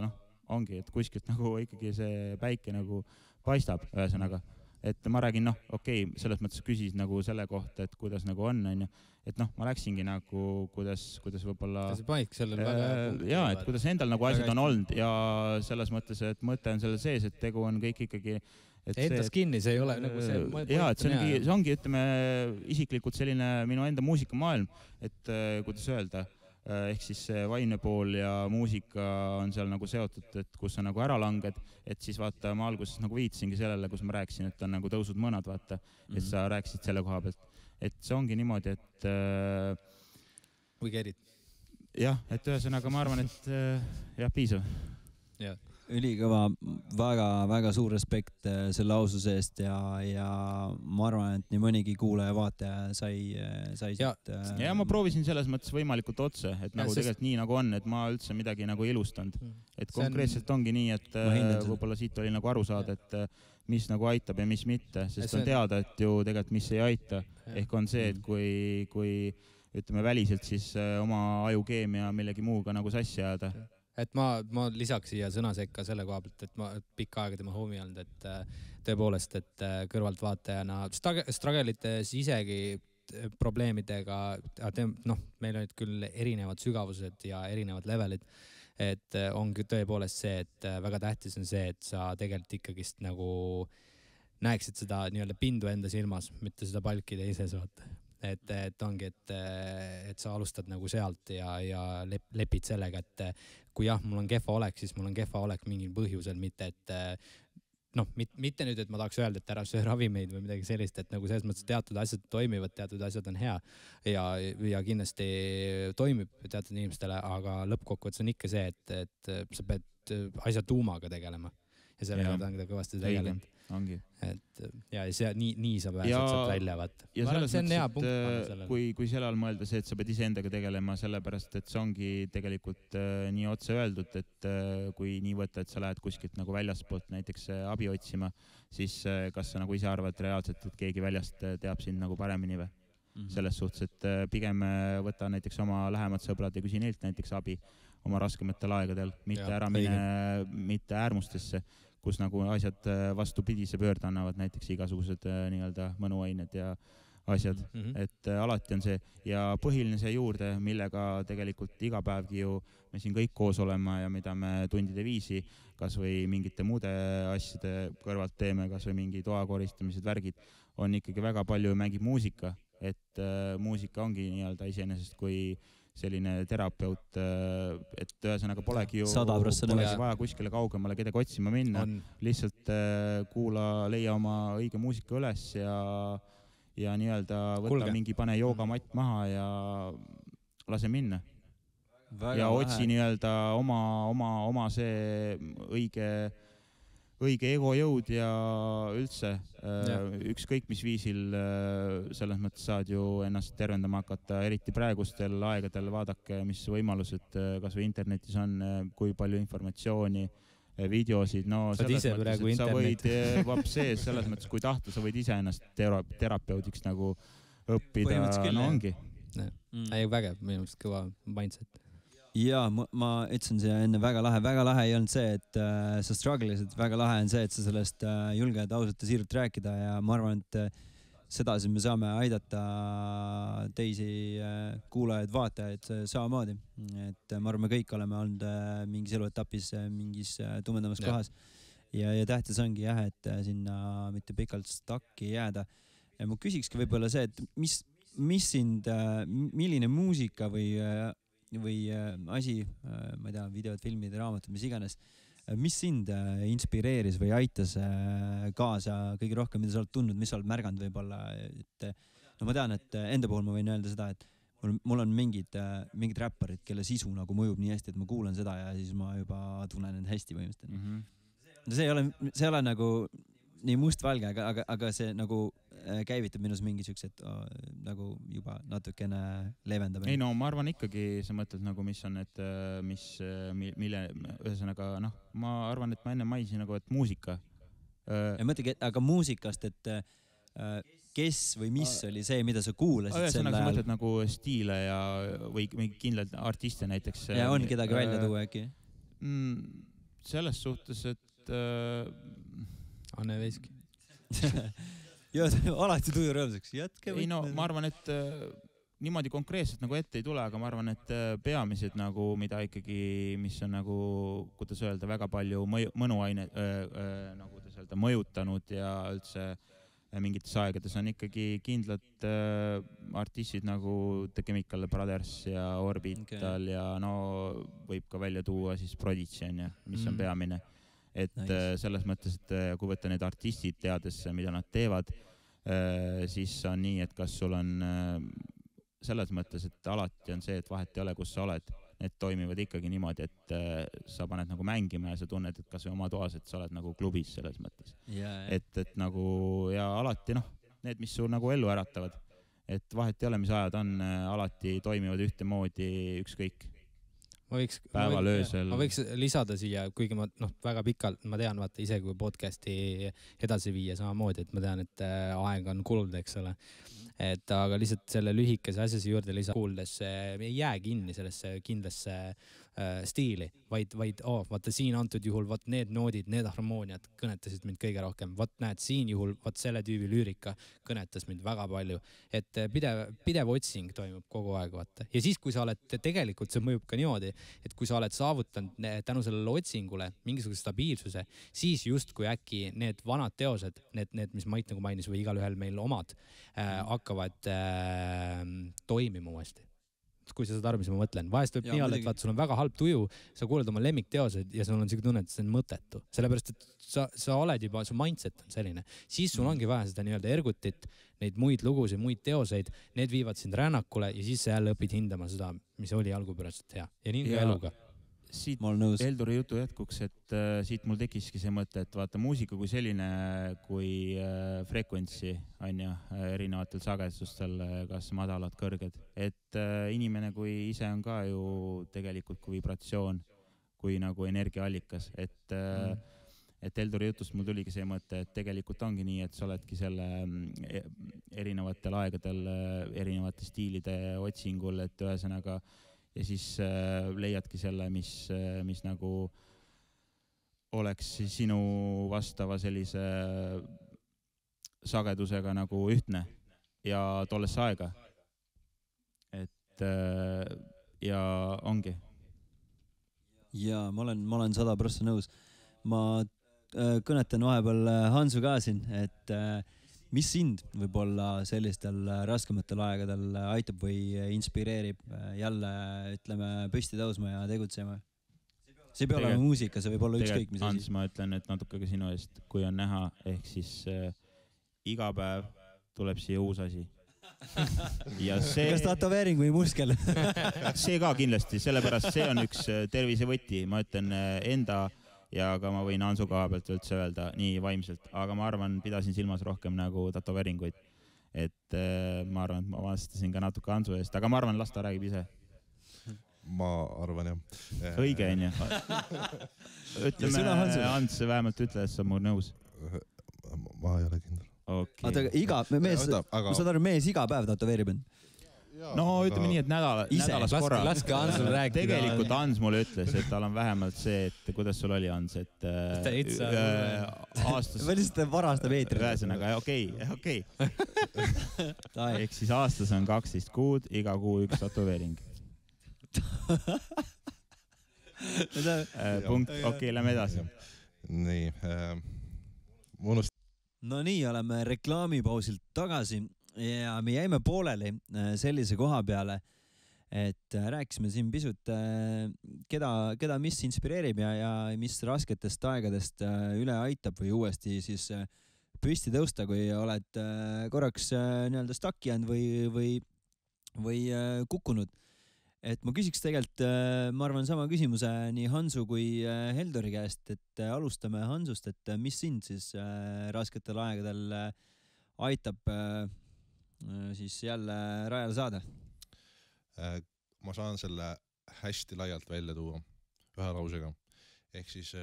noh, ongi, et kuskilt nagu ikkagi see päike nagu paistab ühesõnaga. Et ma räägin, noh, okei, selles mõttes küsis nagu selle kohta, et kuidas nagu on, et noh, ma läksingi nagu, kuidas võib-olla... See paik sellel väga... Jaa, et kuidas endal nagu asjad on olnud ja selles mõttes, et mõte on selle sees, et tegu on kõik ikkagi... Endas kinni, see ei ole nagu see... Jaa, et see ongi, ütleme, isiklikult selline minu enda muusikamaailm, et kuidas öelda, ehk siis see vaimne pool ja muusika on seal nagu seotud, et kus sa nagu ära langed, et siis vaata, ma alguses nagu viitsingi sellele, kus ma rääkisin, et on nagu tõusud mõnad, vaata, et sa rääkisid selle koha pealt. Et see ongi niimoodi, et... Või kerid? Jah, et ühesõnaga ma arvan, et jah, piisav. Jah. Ülikõva, väga suur respekt selle aususe eest ja ma arvan, et nii mõnigi kuulaja vaataja sai siit... Ja ma proovisin selles mõttes võimalikult otse, et nagu tegelikult nii nagu on, et ma üldse midagi nagu ilustanud. Et konkreetselt ongi nii, et võib-olla siit oli nagu aru saada, et mis nagu aitab ja mis mitte, sest on teada, et ju tegelikult mis ei aita. Ehk on see, et kui ütleme väliselt, siis oma ajukeemia millegi muuga nagu sassi ajada. Et ma lisaks siia sõna sekka selle koha pealt, et ma pikka aega tema homie olnud, et tõepoolest, et kõrvalt vaatajana strugelites isegi probleemidega, noh, meil olid küll erinevad sügavused ja erinevad levelid, et ongi tõepoolest see, et väga tähtis on see, et sa tegelikult ikkagist nagu näeksid seda nii-öelda pindu enda silmas, mitte seda palki teises vaata. Et ongi, et sa alustad nagu sealt ja lepid sellega, et kui jah, mul on kehva olek, siis mul on kehva olek mingil põhjusel, mitte et noh, mitte nüüd, et ma tahaks öelda, et ära söö ravimeid või midagi sellist, et nagu selles mõttes teatud asjad toimivad, teatud asjad on hea ja kindlasti toimib teatud inimestele, aga lõppkokkuvõttes on ikka see, et sa pead asja tuumaga tegelema ja sellega ta on kõvasti tegelenud. Ongi. Et ja nii sa pääsed sealt välja, vaata. Ja selles mõttes, et kui sellal mõelda see, et sa pead iseendaga tegelema, sellepärast, et see ongi tegelikult nii otse öeldud, et kui nii võtta, et sa lähed kuskilt nagu väljaspoolt näiteks abi otsima, siis kas sa nagu ise arvad reaalselt, et keegi väljast teab sind nagu paremini või? Selles suhtes, et pigem võta näiteks oma lähemad sõbrad ja küsi neilt näiteks abi oma raskematel aegadel, mitte äärmustesse, kus nagu asjad vastupidise pöörde annavad, näiteks igasugused nii-öelda mõnuained ja asjad. Et alati on see ja põhiline see juurde, millega tegelikult iga päevgi ju me siin kõik koos olema ja mida me tundide viisi, kas või mingite muude asjade kõrvalt teeme, kas või mingi toakoristamised, värgid, on ikkagi väga palju mängib muusika, et muusika ongi nii-öelda iseenesest kui selline terapeut, et ühesõnaga polegi ju vaja kuskile kaugemale kedagi otsima minna. Lihtsalt leia oma õige muusika üles ja nii-öelda võtta mingi pane joogamatt maha ja lase minna. Ja otsi nii-öelda oma see õige egojõud ja üldse ükskõik mis viisil selles mõttes saad ju ennast tervendama hakata, eriti praegustel aegadel vaadake, mis võimalused kas või internetis on, kui palju informatsiooni, videosid, no selles mõttes, et sa võid selles mõttes, kui tahta, sa võid ise ennast terapeudiks nagu õppida, no ongi. Ei, vägev, minu mõttes kõva mindset. Ja ma ütlesin siia enne väga lahe ei olnud see, et sa strugglesid, väga lahe on see, et sa sellest julged ausalt ja siiralt rääkida ja ma arvan, et sedasi me saame aidata teisi kuulajaid, vaatajaid samamoodi. Et ma arvan, me kõik oleme olnud mingis eluetapis mingis tumendamas kohas ja tähtis ongi jah, et sinna mitte pikalt stakki jääda. Ja ma küsikski võib-olla see, et mis sind, milline muusika või asi, ma ei tea, videod, filmid, raamatud, mis iganes, mis sind inspireeris või aitas kaasa kõige rohkem, mida sa oled tundnud, mis sa oled märganud võib-olla, et no ma tean, et enda puhul ma võin öelda seda, et mul on mingid räpparid, kelle sisu nagu mõjub nii hästi, et ma kuulan seda ja siis ma juba tunnen end hästi põhimõtteliselt. No see ei ole nagu nii mustvalge, aga see nagu käivitab minus mingi siuksed nagu juba natukene leevendab. Ei no ma arvan ikkagi, sa mõtled nagu, mis on need, mille ühesõnaga, noh, ma arvan, et ma enne mainisin nagu, et muusika. Ja mõtlegi, aga muusikast, et kes või mis oli see, mida sa kuulasid selle ajal? Sa mõtled nagu stiile ja või kindlalt artiste näiteks. Ja on kedagi välja tuua äkki? Selles suhtes, et Anne Veiski. Alati tuju rõõmsaks. Jätke. Ei no, ma arvan, et niimoodi konkreetselt nagu ette ei tule, aga ma arvan, et peamised nagu, mida ikkagi, mis on nagu, kuidas öelda, väga palju mõnuaine, nagu kuidas öelda, mõjutanud ja üldse mingites aegades on ikkagi kindlad artistid nagu The Chemical Brothers ja Orbital ja no võib ka välja tuua siis Prodigy, mis on peamine. Et selles mõttes, et kui võtta need artistid teades, mida nad teevad, siis on nii, et kas sul on selles mõttes, et alati on see, et vahet ei ole, kus sa oled. Need toimivad ikkagi niimoodi, et sa paned nagu mängima ja sa tunned, et kas või oma toas, et sa oled nagu klubis selles mõttes. Et nagu ja alati need, mis sul nagu ellu äratavad, et vahet ei ole, mis ajad on, alati toimivad ühtemoodi ükskõik. Ma võiks lisada siia, kuigi ma väga pikalt, ma tean, vaata ise kui podcasti edasi viia samamoodi, et ma tean, et aeg on kulunud, eks ole. Et aga lihtsalt selle lühikese asjasi juurde kuuldes ei jää kinni sellesse kindlasse stiili, vaid vaata siin antud juhul, vaat need noodid, need harmooniad kõnetasid mind kõige rohkem. Vaat näed, siin juhul, vaat selle tüübi lüürika kõnetas mind väga palju. Et pidev otsing toimub kogu aeg, vaata. Ja siis, kui sa oled, tegelikult see mõjub ka niimoodi, et kui sa oled saavutanud tänu sellele otsingule mingisuguse stabiilsuse, siis just kui äkki need vanad teosed, need mis Mait nagu mainis või igalühel meil omad, hakkavad toimima uuesti. Kui sa saad aru, mis ma mõtlen. Vahest võib nii olla, et vaat, sul on väga halb tuju, sa kuuled oma lemmikteosed ja sul on siuke tunne, et see on mõttetu. Sellepärast, et sa oled juba, su mindset on selline. Siis sul ongi vaja seda nii-öelda ergutit, neid muid lugusid, muid teoseid, need viivad sind rännakule ja siis sa jälle õpid hindama seda, mis oli algupäraselt hea. Ja nii ka eluga. Siit Elduri jutu jätkuks, et siit mul tekiski see mõte, et vaata muusika kui selline, kui frekuentsi on ja erinevatel sagedustel, kas madalad, kõrged. Et inimene kui ise on ka ju tegelikult kui vibratsioon, kui nagu energiaallikas. Et Elduri jutust mul tuligi see mõte, et tegelikult ongi nii, et sa oledki selle erinevatel aegadel, erinevate stiilide otsingul, et ühesõnaga ja siis leiadki selle, mis nagu oleks sinu vastava sellise sagedusega nagu ühtne ja tollesse aega. Et ja ongi. Ja ma olen 100% nõus. Ma kõnetan vahepeal Hansu ka siin, et mis sind võib-olla sellistel raskematel aegadel aitab või inspireerib jälle, ütleme, püsti tõusma ja tegutsema? See ei pea olema muusika, see võib olla ükskõik mis asi. Hans, ma ütlen, et natuke ka sinu eest, kui on näha, ehk siis iga päev tuleb siia uus asi. Ja see... Kas tatoveering või muskel? See ka kindlasti, sellepärast see on üks tervisevõti, ma ütlen enda ja ka ma võin Hansu koha pealt üldse öelda nii vaimselt, aga ma arvan, pidasin silmas rohkem nagu tatoveeringuid. Et ma arvan, et ma vastasin ka natuke Hansu eest, aga ma arvan, las ta räägib ise. Ma arvan, jah. Õige on ju. Ütleme, Hans vähemalt ütle, et sa mul nõus. Ma ei ole kindel. Okay. Ma saan aru, mees iga päev tatoveerib end. No ütleme nii, et nädalas korra. Laske Hansul rääkida. Tegelikult Hans mulle ütles, et tal on vähemalt see, et kuidas sul oli, Hans, et aastas... Või lihtsalt varastab eetri. Ühesõnaga, okei. Ehk siis aastas on 12 kuud, iga kuu üks tatoveering. Punkt, okei, lähme edasi. Nii, No nii, oleme reklaamipausilt tagasi ja me jäime pooleli sellise koha peale, et rääkisime siin pisut, keda mis inspireerib ja mis rasketest aegadest üle aitab või uuesti siis püsti tõusta, kui oled korraks nii-öelda stuck jäänud või kukkunud. Et ma küsiks tegelikult, ma arvan, sama küsimuse nii Hansu kui Heldori käest, et alustame Hansust, et mis sind siis rasketel aegadel aitab siis jälle rajale saada? Ma saan selle hästi laialt välja tuua ühe lausega. Ehk siis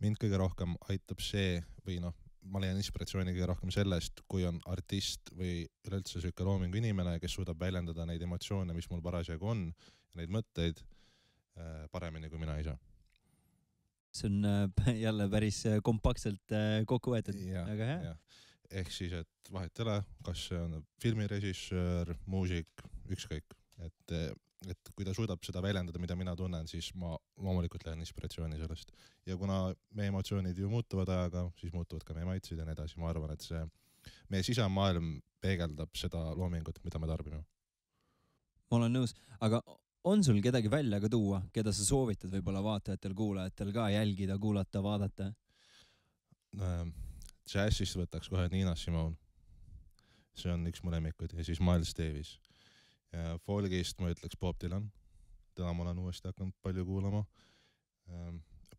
mind kõige rohkem aitab see või ma leian inspiratsiooni kõige rohkem sellest, kui on artist või üleüldse selline loomingu inimene, kes suudab väljendada neid emotsioone, mis mul parasjagu on, ja neid mõtteid paremini kui mina ise. See on jälle päris kompaktselt kokku võetud. Väga hea. Ehk siis, et vahet ei ole, kas see on filmirežissöör, muusik, ükskõik. Et kui ta suudab seda väljendada, mida mina tunnen, siis ma loomulikult lähen inspiratsiooni sellest. Ja kuna meie emotsioonid ju muutuvad ajaga, siis muutuvad ka meie maitsid ja nii edasi. Ma arvan, et see meie sisemaailm peegeldab seda loomingut, mida me tarbime. Ma olen nõus, aga on sul kedagi välja ka tuua, keda sa soovitad võib-olla vaatajatel, kuulajatel ka jälgida, kuulata, vaadata? Jazzist võtaks kohe Nina Simone. See on üks mu lemmikuid. Ja siis Miles Davis. Ja folgist ma ütleks Bob Dylan. Täna ma olen uuesti hakanud palju kuulama.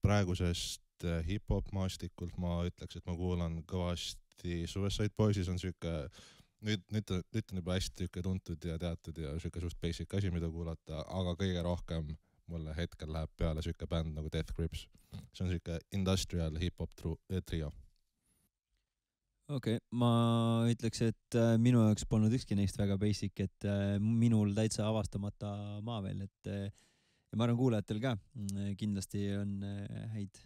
Praegusest hip-hop maastikult ma ütleks, et ma kuulan kõvasti Suicide Boysis on süke, nüüd on juba hästi tuntud ja teatud ja süke suht basic asi, mida kuulata, aga kõige rohkem mulle hetkel läheb peale süke bänd nagu Death Grips. See on süke industrial hip-hop trio. Okei, ma ütleks, et minu jaoks polnud ükski neist väga basic, et minul täitsa avastamata maa veel, et ja ma arvan kuulajatel ka kindlasti on häid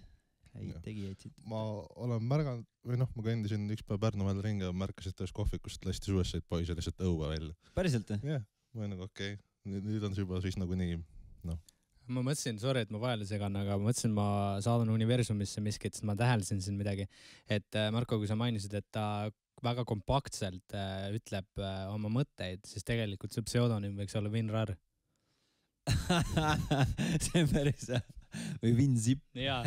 tegijaid siit. Ma olen märganud, või ma kõndisin üks päev Pärnumäel ringi ja märkasin, et kohvikust lasti Suicide Boys ja lihtsalt õua välja. Päriselt? Jah, ma olen okei. Nüüd on see juba siis nagu nii, Ma mõtlesin, sorry, et ma vahele segan, aga ma mõtlesin, ma saadan universumisse miskit, sest ma täheldasin siin midagi. Et Marko, kui sa mainisid, et ta väga kompaktselt ütleb oma mõtteid, siis tegelikult see pseudonüüm võiks olla Vin Rar. See on päris või Vin Zip. Jaa,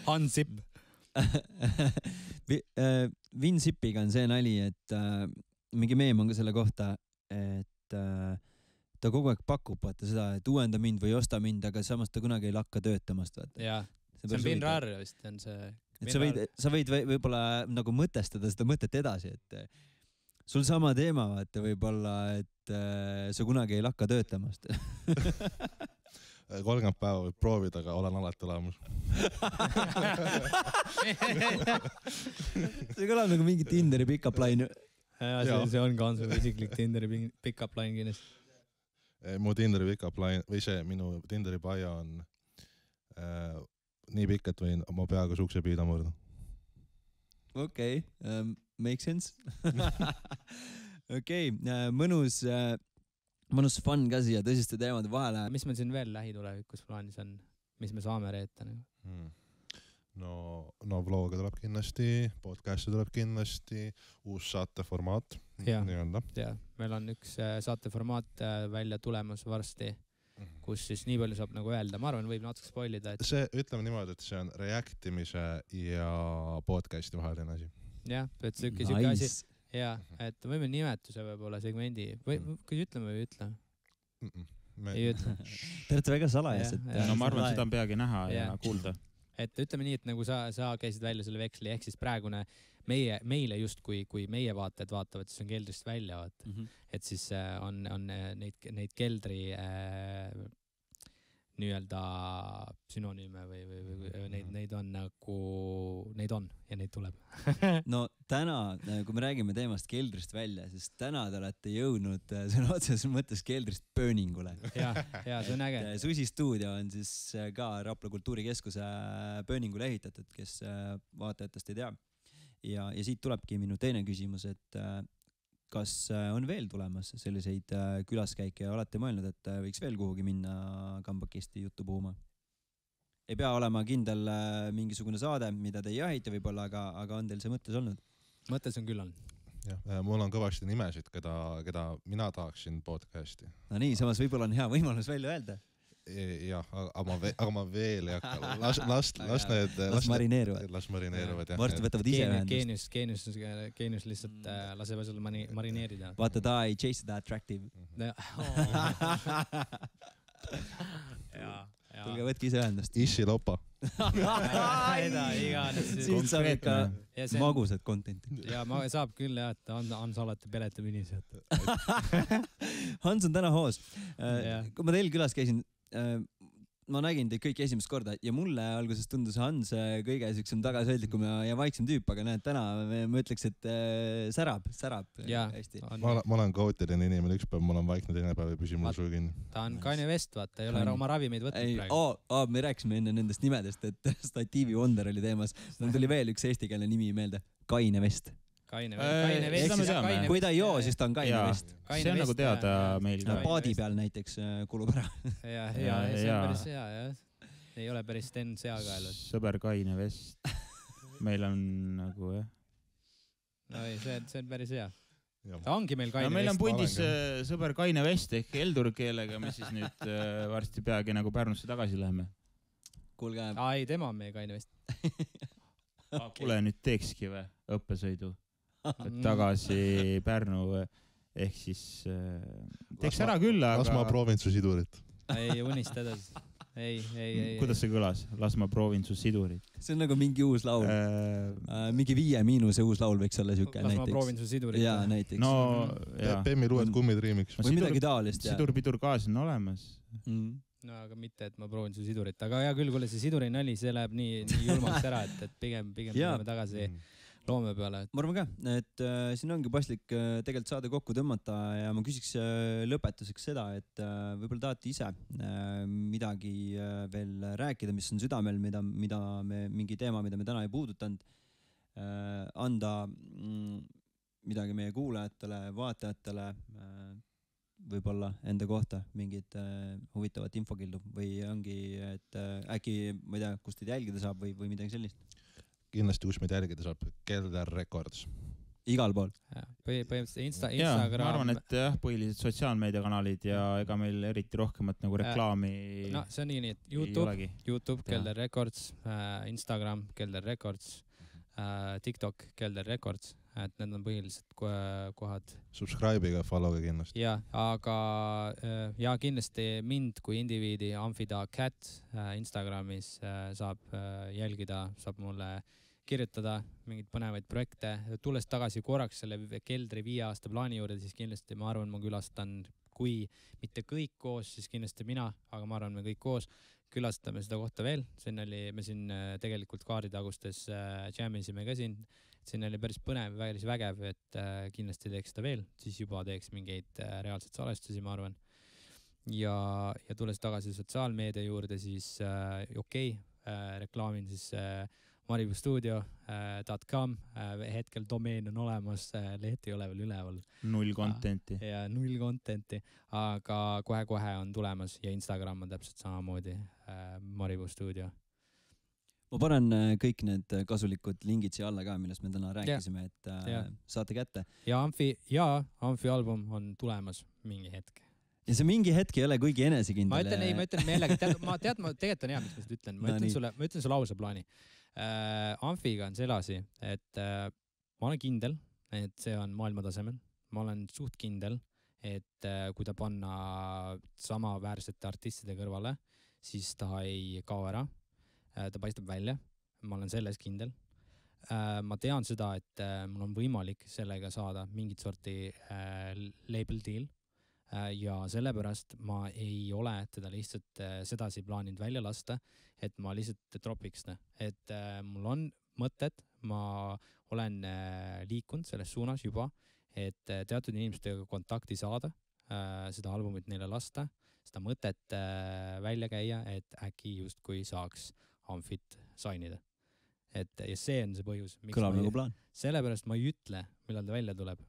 Han Zip. Vin Zipiga on see nali, et mingi meem on ka selle kohta, et ta kogu aeg pakub seda, et uuenda mind või osta mind, aga samas ta kunagi ei lakka töötamast. Jaa, see on Vin Rar vist. On see sa võid võib-olla nagu mõtestada seda mõtet edasi, et sul sama teema vaata võib-olla, et sa kunagi ei lakka töötamast. 30 päeva võib proovida, aga olen alati olemas. See kõlab nagu mingi Tinderi pick-up line. See on ka sul isiklik Tinderi pick-up line kindlasti. Mu Tinderi pick-up line või see minu Tinderi bio on nii pikk, et võin oma peaga sukse piida murda. Okei, make sense. Okei, mõnus fun ka siia tõsiste teemade vahele. Mis meil siin veel lähitulevikus plaanis on? Mis me saame reeta? No vlooga tuleb kindlasti, podcasti tuleb kindlasti, uus saateformaat. Ja, meil on üks saateformaat välja tulemas varsti, kus siis nii palju saab nagu öelda. Ma arvan, võib natuke spoilida. See, ütleme niimoodi, et see on reactimise ja podcasti vaheline asi. Jah, et süke asi. Ja, et võime nimetuse võib-olla segmendi. Kui ütleme või ütle? Ei ütle. Te olete väga salajased. No ma arvan, seda on peagi näha ja kuulda. Et ütleme nii, et nagu sa käisid välja selle veksli, ehk siis praegune meile just kui meie vaatajad vaatavad, siis on keldrist välja vaata. Et siis on neid keldri nii-öelda sünonüüme või neid on nagu, neid on ja neid tuleb. No täna, kui me räägime teemast keldrist välja, siis täna te olete jõudnud sõna otseses mõttes keldrist pööningule. Ja, see on äge. Susi stuudio on siis ka Rapla Kultuurikeskuse pööningule ehitatud, kes vaatajatest ei tea. Ja siit tulebki minu teine küsimus, et kas on veel tulemas selliseid külaskäike ja olete mõelnud, et võiks veel kuhugi minna Kambakesti juttu puhuma? Ei pea olema kindel mingisugune saade, mida te ei jahita võib-olla, aga on teil see mõttes olnud? Mõttes on küll on. jah, mul on kõvasti nimesid, keda mina tahaksin podcasti. No nii, samas võib-olla on hea võimalus välja öelda. Jah, aga ma veel ei hakka. Las marineeruvad. Las marineeruvad, jah. Varsti võtavad ise ühendust. Geenius lihtsalt laseb sul marineerida. Vaata, ta ei chase the attractive. Tulge võtke ise ühendust. Issi lopa. Siit saab ikka magusad contenti. Ja saab küll jah, et Hans alati peletab inimesed. Hans on täna hoos. Kui ma teil külas käisin, ma nägin teid kõik esimest korda ja mulle alguses tundus Hans kõige siuksem tagasihoidlikum ja vaiksem tüüp, aga näed, täna ma ütleks, et särab hästi. Ma olen kaootiline inimene, üks päev ma olen vaikne, teine päev ei püsi mul suu kinni. Ta on Kanye West, vaata, ei ole oma ravimeid võtnud praegu. Me rääkisime enne nendest nimedest, et Statiivi Wonder oli teemas. Mul tuli veel üks eestikeelne nimi meelde. Kaine West. Kaine West. Kui ta ei joo, siis ta on Kaine West. See on nagu teada meil ka. Paadi peal näiteks kulub ära. Ja, see on päris hea, jah. Ei ole päris Sten Seakael. Sõber Kaine West. Meil on nagu, jah. No ei, see on päris hea. Ta ongi meil Kaine West. Meil on pundis sõber Kaine West ehk Eldur keelega, me siis nüüd varsti peagi nagu Pärnusse tagasi läheme. Kuulge. Ei, tema on meie Kaine West. Kuule, nüüd teekski või õppesõidu tagasi Pärnu ehk siis teeks ära küll, aga... Las ma proovin su sidurit. Ei, unista edasi. Ei. Kuidas see kõlas? Las ma proovin su sidurit. See on nagu mingi uus laul. Mingi 5- uus laul võiks olla siuke näiteks. Las ma proovin su sidurit. Jaa, näiteks. No, Pemmi luued kummid riimiks. Või midagi taolist. Sidur-pidur kaas on olemas. No aga mitte, et ma proovin su sidurit. Aga hea küll, kuule see siduri nali, see läheb nii julmaks ära, et pigem tuleme tagasi loome peale. Ma arvan ka, et siin ongi paslik tegelikult saade kokku tõmmata ja ma küsiks lõpetuseks seda, et võib-olla tahate ise midagi veel rääkida, mis on südamel, mingi teema, mida me täna ei puudutanud, anda midagi meie kuulajatele, vaatajatele, võib-olla enda kohta mingit huvitavat infokildu või ongi, et äkki, ma ei tea, kust teid jälgida saab või midagi sellist? Kindlasti, kus meid jälgida saab, Kelder Records. Igal pool. Põhimõtteliselt Instagram. Ma arvan, et jah, põhilised sotsiaalmeediakanalid ja ega meil eriti rohkemat nagu reklaami... No see on nii, et YouTube, Kelder Records, Instagram, Kelder Records, TikTok, Kelder Records, et need on põhilised kohad. Subscribe'iga, follow'ga kindlasti. Ja, aga ja kindlasti mind kui indiviidi Amfida Cat Instagramis saab jälgida, saab mulle kirjutada mingeid põnevaid projekte. Tulles tagasi korraks selle Keldri 5 aasta plaani juurde, siis kindlasti ma arvan, ma külastan, kui mitte kõik koos, siis kindlasti mina, aga ma arvan, me kõik koos külastame seda kohta veel. Me siin tegelikult Kaaritagustes jammisime ka siin oli päris põnev, päris vägev, et kindlasti teeks seda veel, siis juba teeks mingeid reaalseid salvestusi, ma arvan. Ja tulles tagasi sotsiaalmeedia juurde, siis reklaamin siis maribustudio.com, hetkel domeen on olemas, leht ei ole veel üleval. 0 contenti. Ja 0 contenti, aga kohe on tulemas ja Instagram on täpselt samamoodi maribustudio. Ma panen kõik need kasulikud lingid siia alla ka, millest me täna rääkisime, et saate kätte. Ja Amfi album on tulemas mingi hetk. Ja see mingi hetk ei ole kuigi enesekindel. Ma ütlen meelega, tegelikult on hea, mis ma seda ütlen. Ma ütlen sulle ausa plaani. Amfiga on see asi, et ma olen kindel, et see on maailmatasemel. Ma olen suht kindel, et kui ta panna samaväärsete artistide kõrvale, siis ta ei kao ära. Ta paistab välja, ma olen selles kindel. Ma tean seda, et mul on võimalik sellega saada mingit sorti label deal ja sellepärast ma ei ole teda lihtsalt sedasi plaaninud välja lasta, et ma lihtsalt tropiks. Et mul on mõtted, ma olen liikunud selles suunas juba, et teatud inimestega kontakti saada, seda albumit neile lasta, seda mõtet välja käia, et äkki just kui saaks Amfit sainida. Ja see on see põhjus. Kõlab nagu plaan. Sellepärast ma ei ütle, millal ta välja tuleb,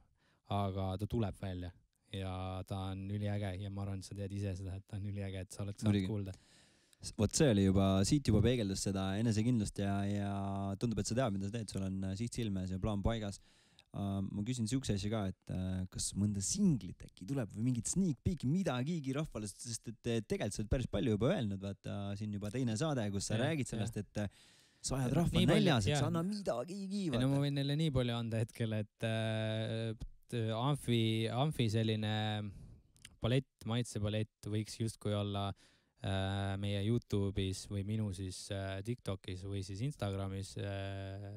aga ta tuleb välja ja ta on üliäge ja ma arvan, et sa tead ise seda, et ta on üliäge, et sa oled saanud kuulda. Vot see oli siit juba peegeldas seda enesekindlust ja tundub, et sa tead, mida sa teed, sul on siht silmes ja plaan paigas. ma küsin siukse asja ka, et kas mõnda singlit äkki tuleb või mingit sneak peek'i midagigi rahvale, sest et tegelikult sa oled päris palju juba öelnud, vaata siin juba teine saade, kus sa räägid sellest, et sa ajad rahva näljas, et sa anna midagigi. No ma võin neile nii palju anda hetkel, et Amfi selline palett, maitsepalett võiks justkui olla meie YouTube'is või minu siis TikTokis või siis Instagramis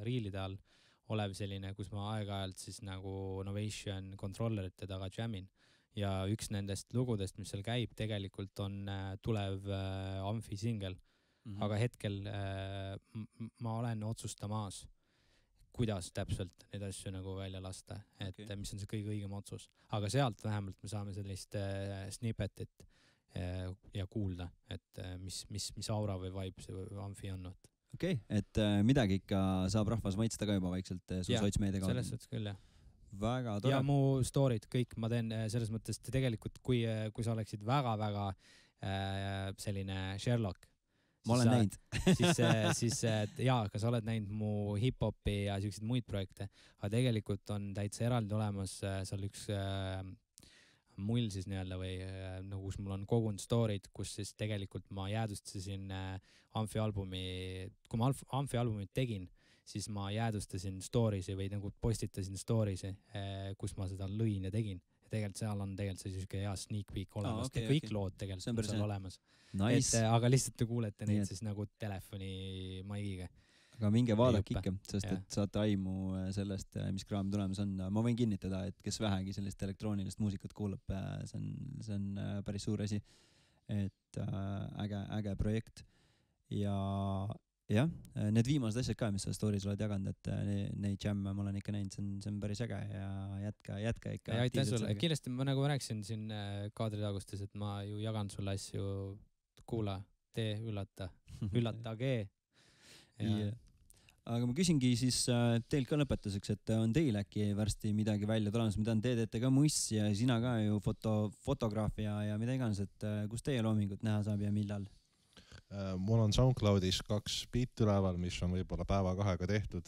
riilide all olev selline, kus ma aeg-ajalt siis nagu Novation controllerite taga jammin. Ja üks nendest lugudest, mis seal käib, tegelikult on tulev Amfi singel. Aga hetkel ma olen otsustamas, kuidas täpselt neid asju nagu välja lasta, et mis on see kõige õigem otsus. Aga sealt vähemalt me saame sellist snippetit ja kuulda, et mis aura või vibe see Amfi on. Okei, et midagi ikka saab rahvas maitsta ka juba vaikselt su sotsmeedia kaudu. Selles suhtes küll, jah. Väga tore. Ja mu story'd kõik ma teen selles mõttes, tegelikult kui sa oleksid väga-väga selline Sherlock, ma olen näinud. siis ka sa oled näinud mu hip-hopi ja selliseid muid projekte, aga tegelikult on täitsa eraldi olemas seal üks mull siis nii-öelda või nagu kus mul on kogunud story'd, kus siis tegelikult ma jäädustasin Amfi albumi, kui ma Amfi albumit tegin, siis ma jäädustasin stories'i või nagu postitasin stories'i, kus ma seda lõin ja tegin. Ja tegelikult seal on tegelikult see selline hea sneak peek olemas. Kõik lood tegelikult on seal olemas. Nice. Aga lihtsalt te kuulete neid siis nagu telefoni maigiga. Aga minge vaadake ikka, sest et saate aimu sellest, mis kraam tulemas on. Ma võin kinnitada, et kes vähegi sellist elektroonilist muusikat kuulab, see on päris suur asi. Et äge projekt. Ja jah, need viimased asjad ka, mis sa stories oled jaganud, et neid jamme ma olen ikka näinud, see on päris äge ja jätka ikka. Ja aitäh sulle. Kindlasti ma nagu rääkisin siin kaadritagustes, et ma ju jagan sulle asju, kuula, tee, üllatage. Aga ma küsingi siis teilt ka lõpetuseks, et on teil äkki varsti midagi välja tulemas, ma tean, te teete ka muss ja sina ka ju fotograafia ja mida iganes, et kus teie loomingut näha saab ja millal? Mul on SoundCloudis 2 beat üleval, mis on võib-olla päeva-kahega tehtud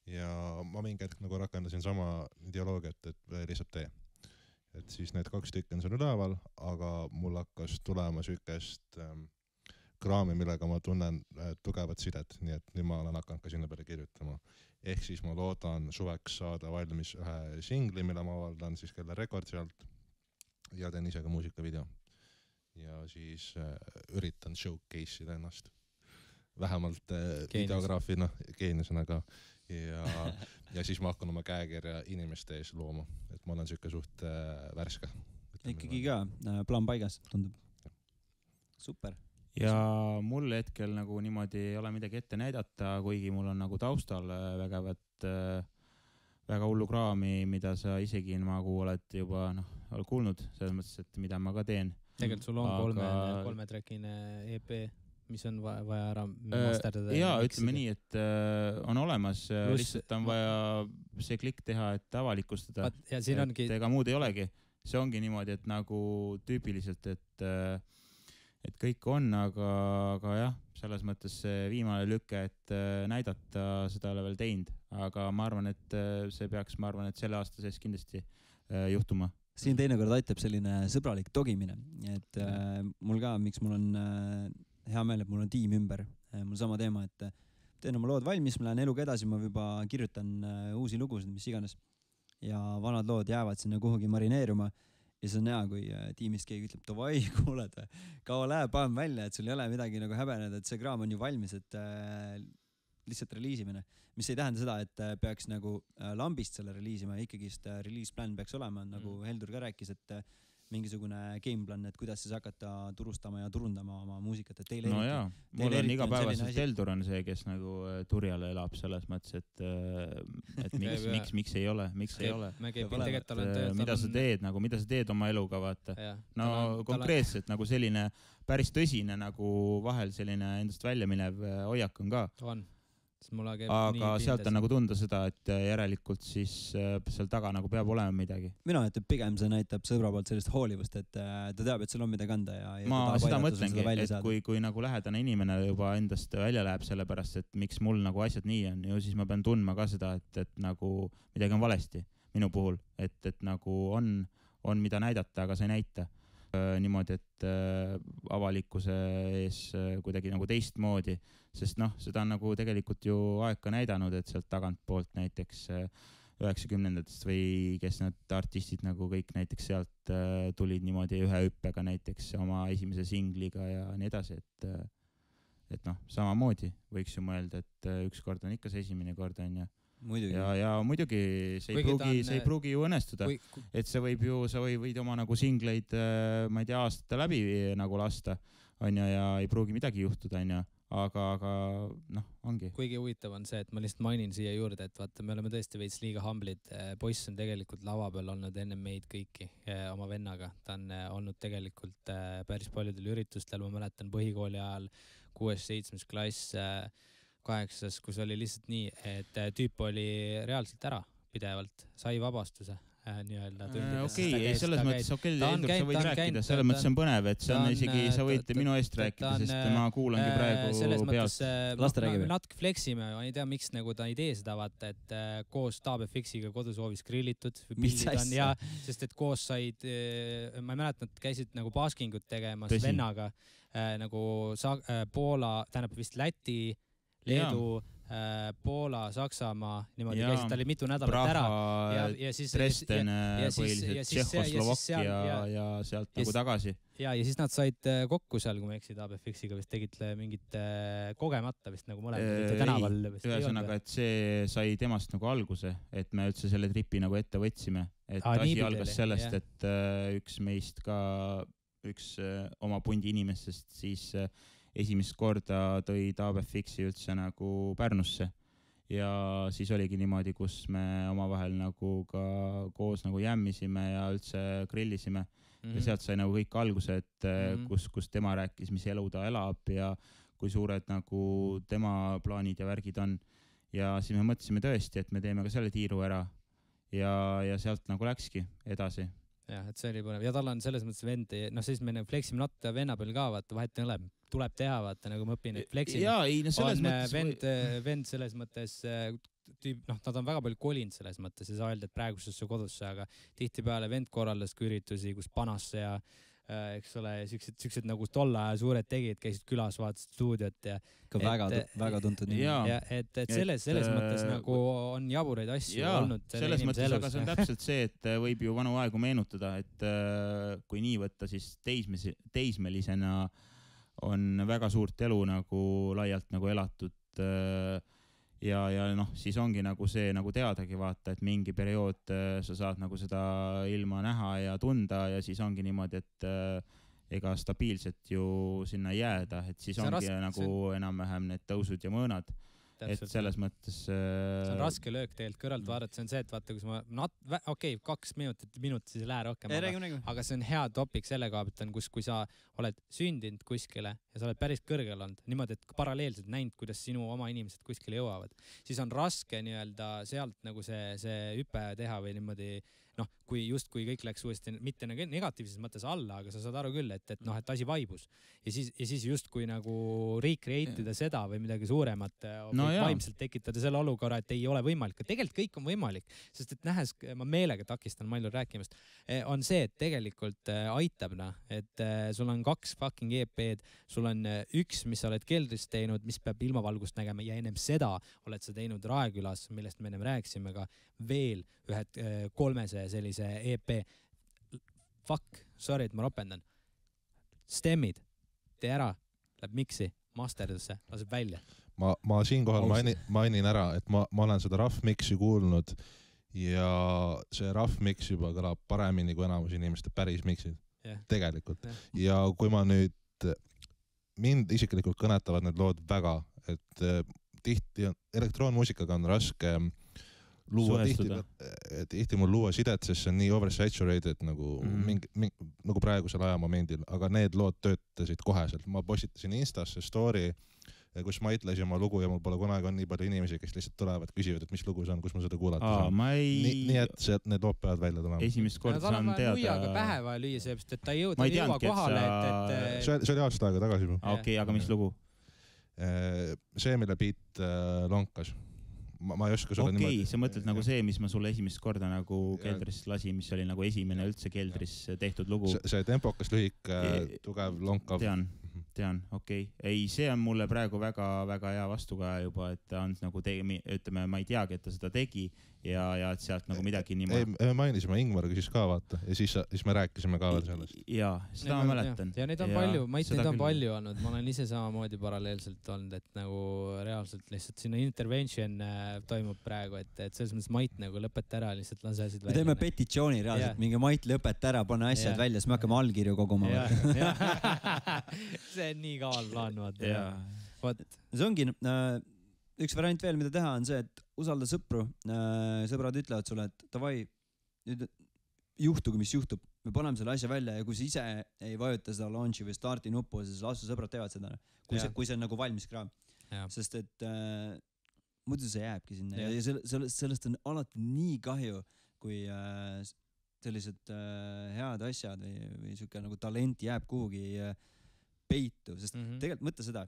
ja ma mingi hetk nagu rakendasin sama ideoloogiat, et lihtsalt tee. Et siis need 2 tükki on seal üleval, aga mul hakkas tulema sükest kraami, millega ma tunnen tugevat sidet, nii et nüüd ma olen hakanud ka sinna peale kirjutama. Ehk siis ma loodan suveks saada valmis ühe singli, mille ma avaldan siis Keller Recordsi alt ja teen ise ka muusikavideo. Ja siis üritan showcase ida ennast. Vähemalt videograafina, geeniusena ka. Ja siis ma hakkan oma käekirja inimeste ees looma, et ma olen siuke suht värske. Ikkagi ka plaan paigas, tundub. Super. Ja mul hetkel nagu niimoodi ei ole midagi ette näidata, kuigi mul on nagu taustal väga hullu kraami, mida sa isegi nagu oled juba kuulnud, selles mõttes, et mida ma ka teen. Tegelikult sul on 3 trackine EP, mis on vaja ära masterdada. Jaa, ütleme nii, et on olemas, lihtsalt on vaja see klikk teha, et avalikustada. Et ega muud ei olegi. See ongi niimoodi, et nagu tüüpiliselt, et kõik on, aga jah, selles mõttes see viimane lüke, et näidata seda ei ole veel teinud, aga ma arvan, et see peaks, selle aasta sees kindlasti juhtuma. Siin teinekord aitab selline sõbralik togimine, et mul ka, miks mul on hea meel, et mul on tiim ümber, mul sama teema, et teen oma lood valmis, ma lähen eluga edasi, ma juba kirjutan uusi lugusid, mis iganes ja vanad lood jäävad sinna kuhugi marineeruma. Ja see on hea, kui tiimist keegi ütleb, davai, kuuled, kaua läheb, paneme välja, et sul ei ole midagi nagu häbeneda, et see kraam on ju valmis, et lihtsalt reliisimine. Mis ei tähenda seda, et peaks nagu lambist selle reliisima, ikkagist release-plan peaks olema, nagu Heldur ka rääkis, et mingisugune gameplan, et kuidas siis hakata turustama ja turundama oma muusikat. No jaa, mul on igapäevaselt Heldur on see, kes nagu turjale elab selles mõttes, et miks ei ole. Mida sa teed oma eluga, vaata. No konkreetselt nagu selline päris tõsine nagu vahel selline endast välja minev hoiak on ka. aga sealt on nagu tunda seda, et järelikult siis seal taga nagu peab olema midagi. Mina ütlen, pigem see näitab sõbra poolt sellist hoolivust, et ta teab, et sul on midagi anda ja ma seda mõtlengi, et kui nagu lähedane inimene juba endast välja läheb sellepärast, et miks mul nagu asjad nii on, ju siis ma pean tundma ka seda, et nagu midagi on valesti minu puhul, et nagu on mida näidata, aga sa ei näita. Niimoodi, et avalikkuse ees kuidagi nagu teistmoodi, sest seda on nagu tegelikult ju aeg ka näidanud, et sealt tagant poolt näiteks 90-ndatest või kes need artistid nagu kõik näiteks sealt tulid niimoodi ühe hüppega näiteks oma esimese singliga ja nii edasi, et samamoodi võiks ju mõelda, et üks kord on ikka see esimene kord on ja ja muidugi see ei pruugi ju õnnestuda, et sa võid oma nagu singleid, ma ei tea, aastate läbi nagu lasta, on ja ei pruugi midagi juhtuda, on ja, aga ongi. Kuigi huvitav on see, et ma lihtsalt mainin siia juurde, et vaata, me oleme tõesti veits liiga humblid. Poiss on tegelikult lava peal olnud enne meid kõiki oma vennaga. Ta on olnud tegelikult päris paljudel üritustel, ma mäletan põhikooli ajal 6.-7. klass 8, kus oli lihtsalt nii, et tüüp oli reaalselt ära pidevalt, sai vabastuse nii-öelda tundides. Okei, selles mõttes, Heldur, sa võid rääkida, selles mõttes on põnev, et see on isegi, sa võid minu eest rääkida, sest ma kuulangi praegu pealt. Laste räägime. Natuke fleksime, ma ei tea, miks nagu ta ei tee seda, vaata, et koos TaabFX-iga kodusoovis grillitud. Sest et koos said, ma ei mäleta, nad käisid nagu baskingut tegemas vennaga, nagu Poola, tähendab vist Läti, Leedu, Poola, Saksamaa, niimoodi käisid, ta oli mitu nädalat ära. Dresden, põhiliselt Tšehhoslovakkia ja sealt nagu tagasi. Ja siis nad said kokku seal, kui ma eksid, TaabFX-iga vist tegid mingit kogemata vist nagu mõlemad tänaval. Ühesõnaga, et see sai temast nagu alguse, et me üldse selle tripi nagu ette võtsime. Et asi algas sellest, et üks meist ka, üks oma pundi inimestest siis esimest korda tõi TaabFX-i üldse nagu Pärnusse ja siis oligi niimoodi, kus me omavahel nagu ka koos nagu jämmisime ja üldse grillisime ja sealt sai nagu kõik alguse, et kus tema rääkis, mis elu ta elab ja kui suured nagu tema plaanid ja värgid on ja siis me mõtlesime tõesti, et me teeme ka selle tiiru ära ja sealt nagu läkski edasi. Jah, et see oli põnev. Ja tal on selles mõttes vend, siis me fleksime natta venna peal ka, vaata, vahet tuleb teha, vaata, nagu ma õpin, et fleksime. Jaa, ei, selles mõttes... Vend selles mõttes, nad on väga palju kolinud selles mõttes ja sa öelda, et praegusesse kodusse, aga tihtipeale vend korraldas ka üritusi, kus Panasse ja eks ole, siuksed nagu tolla ja suured tegid, käisid külas, vaatasid stuudiot ja ka väga tuntud nii. Ja et selles mõttes nagu on jaburaid asju olnud. Selles mõttes, aga see on täpselt see, et võib ju vanu aegu meenutada, et kui nii võtta, siis teismelisena on väga suurt elu nagu laialt nagu elatud ja siis ongi nagu see nagu teadagi vaata, et mingi periood sa saad nagu seda ilma näha ja tunda ja siis ongi niimoodi, et ega stabiilselt ju sinna jääda, et siis ongi nagu enam-vähem need tõusud ja mõõnad. Et selles mõttes... See on raske löök tegelikult kõrvalt vaadata, see on see, et vaata, kus ma... Okei, 2 minutit siis ei lähe rohkem, aga see on hea topik selle kaabit on, kui sa oled sündinud kuskile ja sa oled päris kõrgel olnud, niimoodi, et paralleelselt näinud, kuidas sinu oma inimesed kuskile jõuavad, siis on raske nii-öelda sealt nagu see hüpe teha või niimoodi kui kõik läks uuesti mitte negatiivses mõttes alla, aga sa saad aru küll, et asi vaibus. Ja siis just kui nagu recreate'ida seda või midagi suuremat vaimselt tekitada selle olukorra, et ei ole võimalik. Tegelikult kõik on võimalik, sest et nähes, ma meelega takistan Mailul rääkimast, on see, et tegelikult aitab, et sul on 2 fucking EP-d, sul on 1, mis sa oled keldris teinud, mis peab ilmavalgust nägema ja ennem seda oled sa teinud Raekülas, millest me ennem rääkisime ka veel 3 sellise EP. Fuck, sorry, et ma ropendan. Stemmid, tee ära, läheb miksi, masterdusse, laseb välja. Ma siinkohal mainin ära, et ma olen seda rough mixi kuulnud ja see rough mix juba kõlab paremini kui enamus inimeste päris mixid. Tegelikult. Ja kui ma nüüd, mind isiklikult kõnetavad need lood väga, et tihti elektroonmuusikaga on raske luua tihti mul luua sidet, sest see on nii oversaturated nagu praegusel ajamomendil, aga need lood töötasid koheselt. Ma postitasin Instasse story kus Mait lasi oma lugu ja mul pole kunagi on nii palju inimesi, kes lihtsalt tulevad, küsivad, et mis lugu see on, kus ma seda kuulata saan. Nii et need lood peavad välja tulema. Esimest korda saan teada. Nuiaga pähe vaja lüüa, seepärast, et ta ei jõua kohale. See oli aasta aega tagasi. Okei, aga mis lugu? See, mille beat lonkas. Ma ei oska sulle niimoodi. Sa mõtled nagu see, mis ma sulle esimest korda nagu keldris lasi, mis oli nagu esimene üldse keldris tehtud lugu. See tempokas, lühik, tugev, lonkav. Tean, okei. Ei, see on mulle praegu väga hea vastukaja juba, et ta on nagu ütleme, ma ei teagi, et ta seda tegi ja et sealt nagu midagi nii me mainisime Ingmar küsis ka vaata ja siis me rääkisime ka veel sellest. Jaa, seda ma mäletan. Ja neid on palju, Mait neid on palju olnud. Ma olen ise samamoodi paralleelselt olnud, et nagu reaalselt lihtsalt sinna intervention toimub praegu, et selles mõttes Mait nagu lõpeta ära, lihtsalt lase asjad välja. Me teeme petitsiooni reaalselt, mingi Mait lõpeta ära, pane asjad välja, siis me hakkame allkirju koguma. See on nii kaval plaan, vaata. See ongi üks variant veel, mida teha, on see, et usalda sõpru. Sõbrad ütlevad sulle, et davai, juhtugu, mis juhtub. Me paneme selle asja välja ja kui sa ise ei vajuta seda launchi või starti nuppu, siis lasu sõbrad teevad seda. Kui see on nagu valmis kraam. Sest et muidu see jääbki sinna ja sellest on alati nii kahju, kui sellised head asjad või siuke nagu talent jääb kuhugi peitu, sest tegelikult mõtle seda,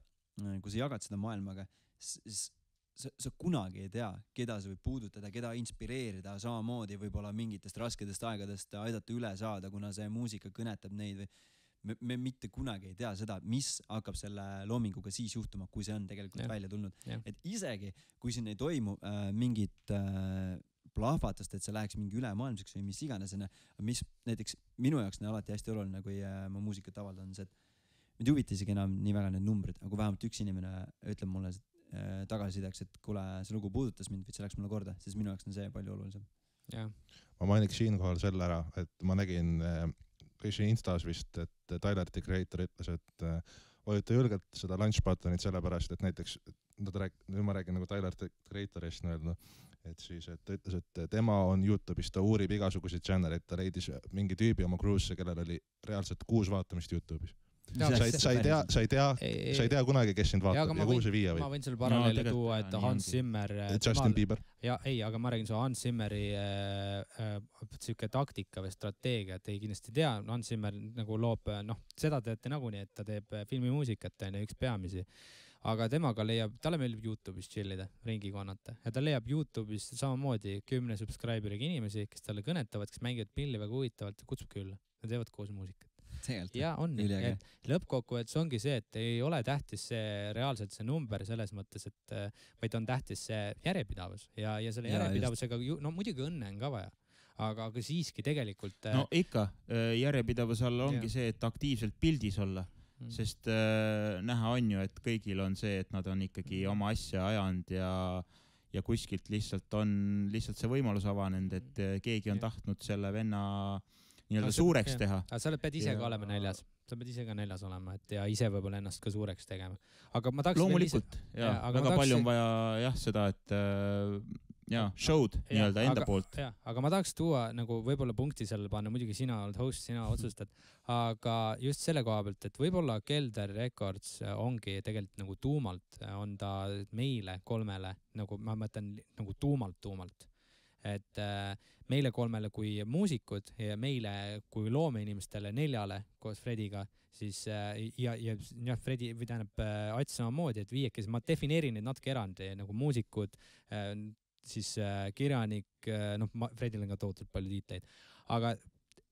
kui sa jagad seda maailmaga, siis sa kunagi ei tea, keda sa võib puudutada, keda inspireerida, samamoodi võib-olla mingitest rasketest aegadest aidata üle saada, kuna see muusika kõnetab neid või me mitte kunagi ei tea seda, mis hakkab selle loominguga siis juhtuma, kui see on tegelikult välja tulnud. Et isegi, kui siin ei toimu mingit plahvatust, et see läheks mingi ülemaailmseks või mis iganes, mis näiteks minu jaoks on alati hästi oluline, kui ma muusikat avaldan, see, et mind huvita isegi enam nii väga need numbrid, aga kui vähemalt üks inimene ütleb mulle tagasisideks, et kuule, see lugu puudutas mind, või see läks mulle korda, siis minu jaoks on see palju olulisem. Ma mainiks siinkohal selle ära, et ma nägin kõisi Instas vist, et Tyler the Creator ütles, et vajuta julgelt seda launch buttonit sellepärast, et näiteks, nüüd ma räägin nagu Tyler the Creatorist nii-öelda, et siis, et ta ütles, et tema on YouTube'is, ta uurib igasuguseid channeleid, ta leidis mingi tüübi oma cruise'e, kellel oli reaalselt 6 vaatamist YouTube'is. Sa ei tea kunagi, kes sind vaatab ja kuhu see viia võib. Ma võin selle paralleeli tuua, et Hans Zimmer Justin Bieber. Aga ma räägin su Hans Zimmeri siuke taktika või strateegia, et ei kindlasti tea. Hans Zimmer nagu loob, seda teate nagunii, et ta teeb filmimuusikat, üks peamisi. Aga temaga talle meeldib YouTube'is chillida, ringi kannata. Ja ta leiab YouTube'is samamoodi 10 subscriberiga inimesi, kes talle kõnetavad, kes mängivad pilli väga huvitavalt, kutsub külla. Nad teevad koos muusikat. Ja on. Lõppkokkuvõttes ongi see, et ei ole tähtis see reaalselt see number selles mõttes, et vaid on tähtis see järjepidavus ja selle järjepidavusega, muidugi õnne on ka vaja, aga siiski tegelikult... No ikka, järjepidavus all ongi see, et aktiivselt pildis olla, sest näha on ju, et kõigil on see, et nad on ikkagi oma asja ajanud ja kuskilt lihtsalt on see võimalus avanenud, et keegi on tahtnud selle venna nii-öelda suureks teha. Aga sa pead ise ka olema näljas. Sa pead ise ka näljas olema ja ise võib-olla ennast ka suureks tegema. Aga ma tahaks... Loomulikult, väga palju on vaja seda, et show'd nii-öelda enda poolt. Aga ma tahaks tuua nagu võib-olla punkti selle panna, muidugi sina oled host, sina otsustad, aga just selle koha pealt, et võib-olla Kelder Records ongi tegelikult nagu tuumalt, on ta meile 3, nagu ma mõtlen nagu tuumalt. Et meile 3 kui muusikud ja meile kui loomeinimestele 4 koos Frediga, siis ja Fredi või tähendab Ats samamoodi, et 5, ma defineerin neid natuke erandi, nagu muusikud, siis kirjanik, Fredil on ka tohutult palju tiitleid, aga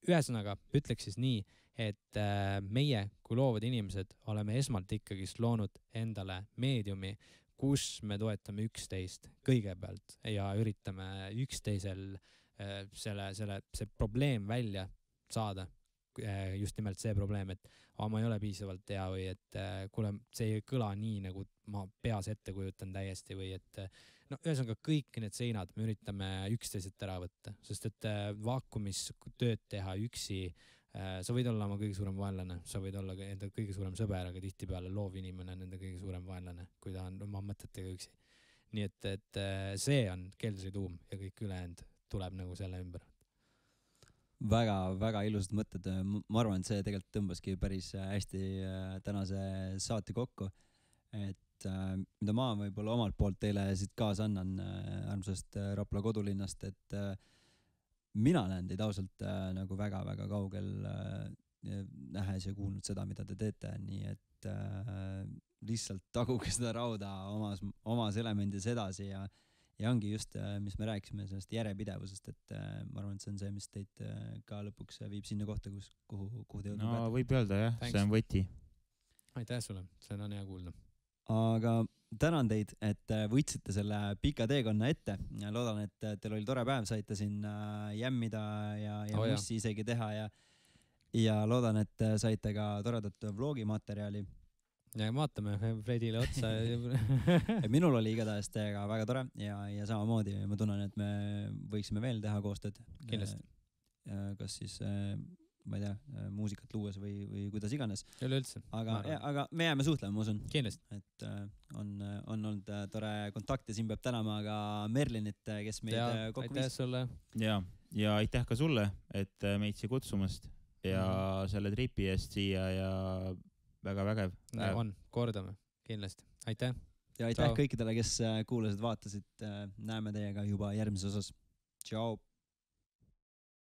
ühesõnaga ütleks siis nii, et meie kui loovad inimesed oleme esmalt ikkagi loonud endale meediumi, kus me toetame üksteist kõigepealt ja üritame üksteisel see probleem välja saada. Just nimelt see probleem, et ma ei ole piisavalt hea või et kuule, see ei kõla nii, nagu ma peas ette kujutan täiesti või et ühesõnaga kõik need seinad me üritame üksteiselt ära võtta, sest et vaakumis tööd teha üksi, sa võid olla oma kõige suurem vaenlane, sa võid olla enda kõige suurem sõber, aga tihtipeale loov inimene on enda kõige suurem vaenlane, kui ta on oma mõtetega üksi. Nii et see on Keldri tuum ja kõik ülejäänud tuleb nagu selle ümber. Väga ilusad mõtted. Ma arvan, et see tegelikult tõmbaski päris hästi tänase saate kokku. et mida ma võib-olla omalt poolt teile siit kaasa annan armsast Rapla kodulinnast, et mina näen teid ausalt nagu väga-väga kaugel nähes ja kuulnud seda, mida te teete, nii et lihtsalt taguge seda rauda omas elemendis edasi ja ongi just, mis me rääkisime sellest järjepidevusest, et ma arvan, et see on see, mis teid ka lõpuks viib sinna kohta, kuhu te jõudma peate. Võib öelda jah, see on võti. Aitäh sulle, see on hea kuulda. Aga tänan teid, et võtsite selle pika teekonna ette. Loodan, et teil oli tore päev, saite siin jämmida ja mussi isegi teha ja loodan, et saite ka toredat vlogimaterjali. Ja vaatame Fredile otsa. Minul oli igatahes teiega väga tore ja samamoodi ma tunnen, et me võiksime veel teha koostööd. Kindlasti. Kas siis, ma ei tea, muusikat luues või kuidas iganes. Üleüldse. Aga me jääme suhtlema, ma usun. Kindlasti. Et on olnud tore kontakt ja siin peab tänama ka Merlinit, kes meid kokku viis. Aitäh sulle. Ja aitäh ka sulle, et meid siia kutsumast ja selle tripi eest siia ja väga vägev. On, kordame, kindlasti. Aitäh. Ja aitäh kõikidele, kes kuulasid, vaatasid. Näeme teiega juba järgmises osas. Tšau.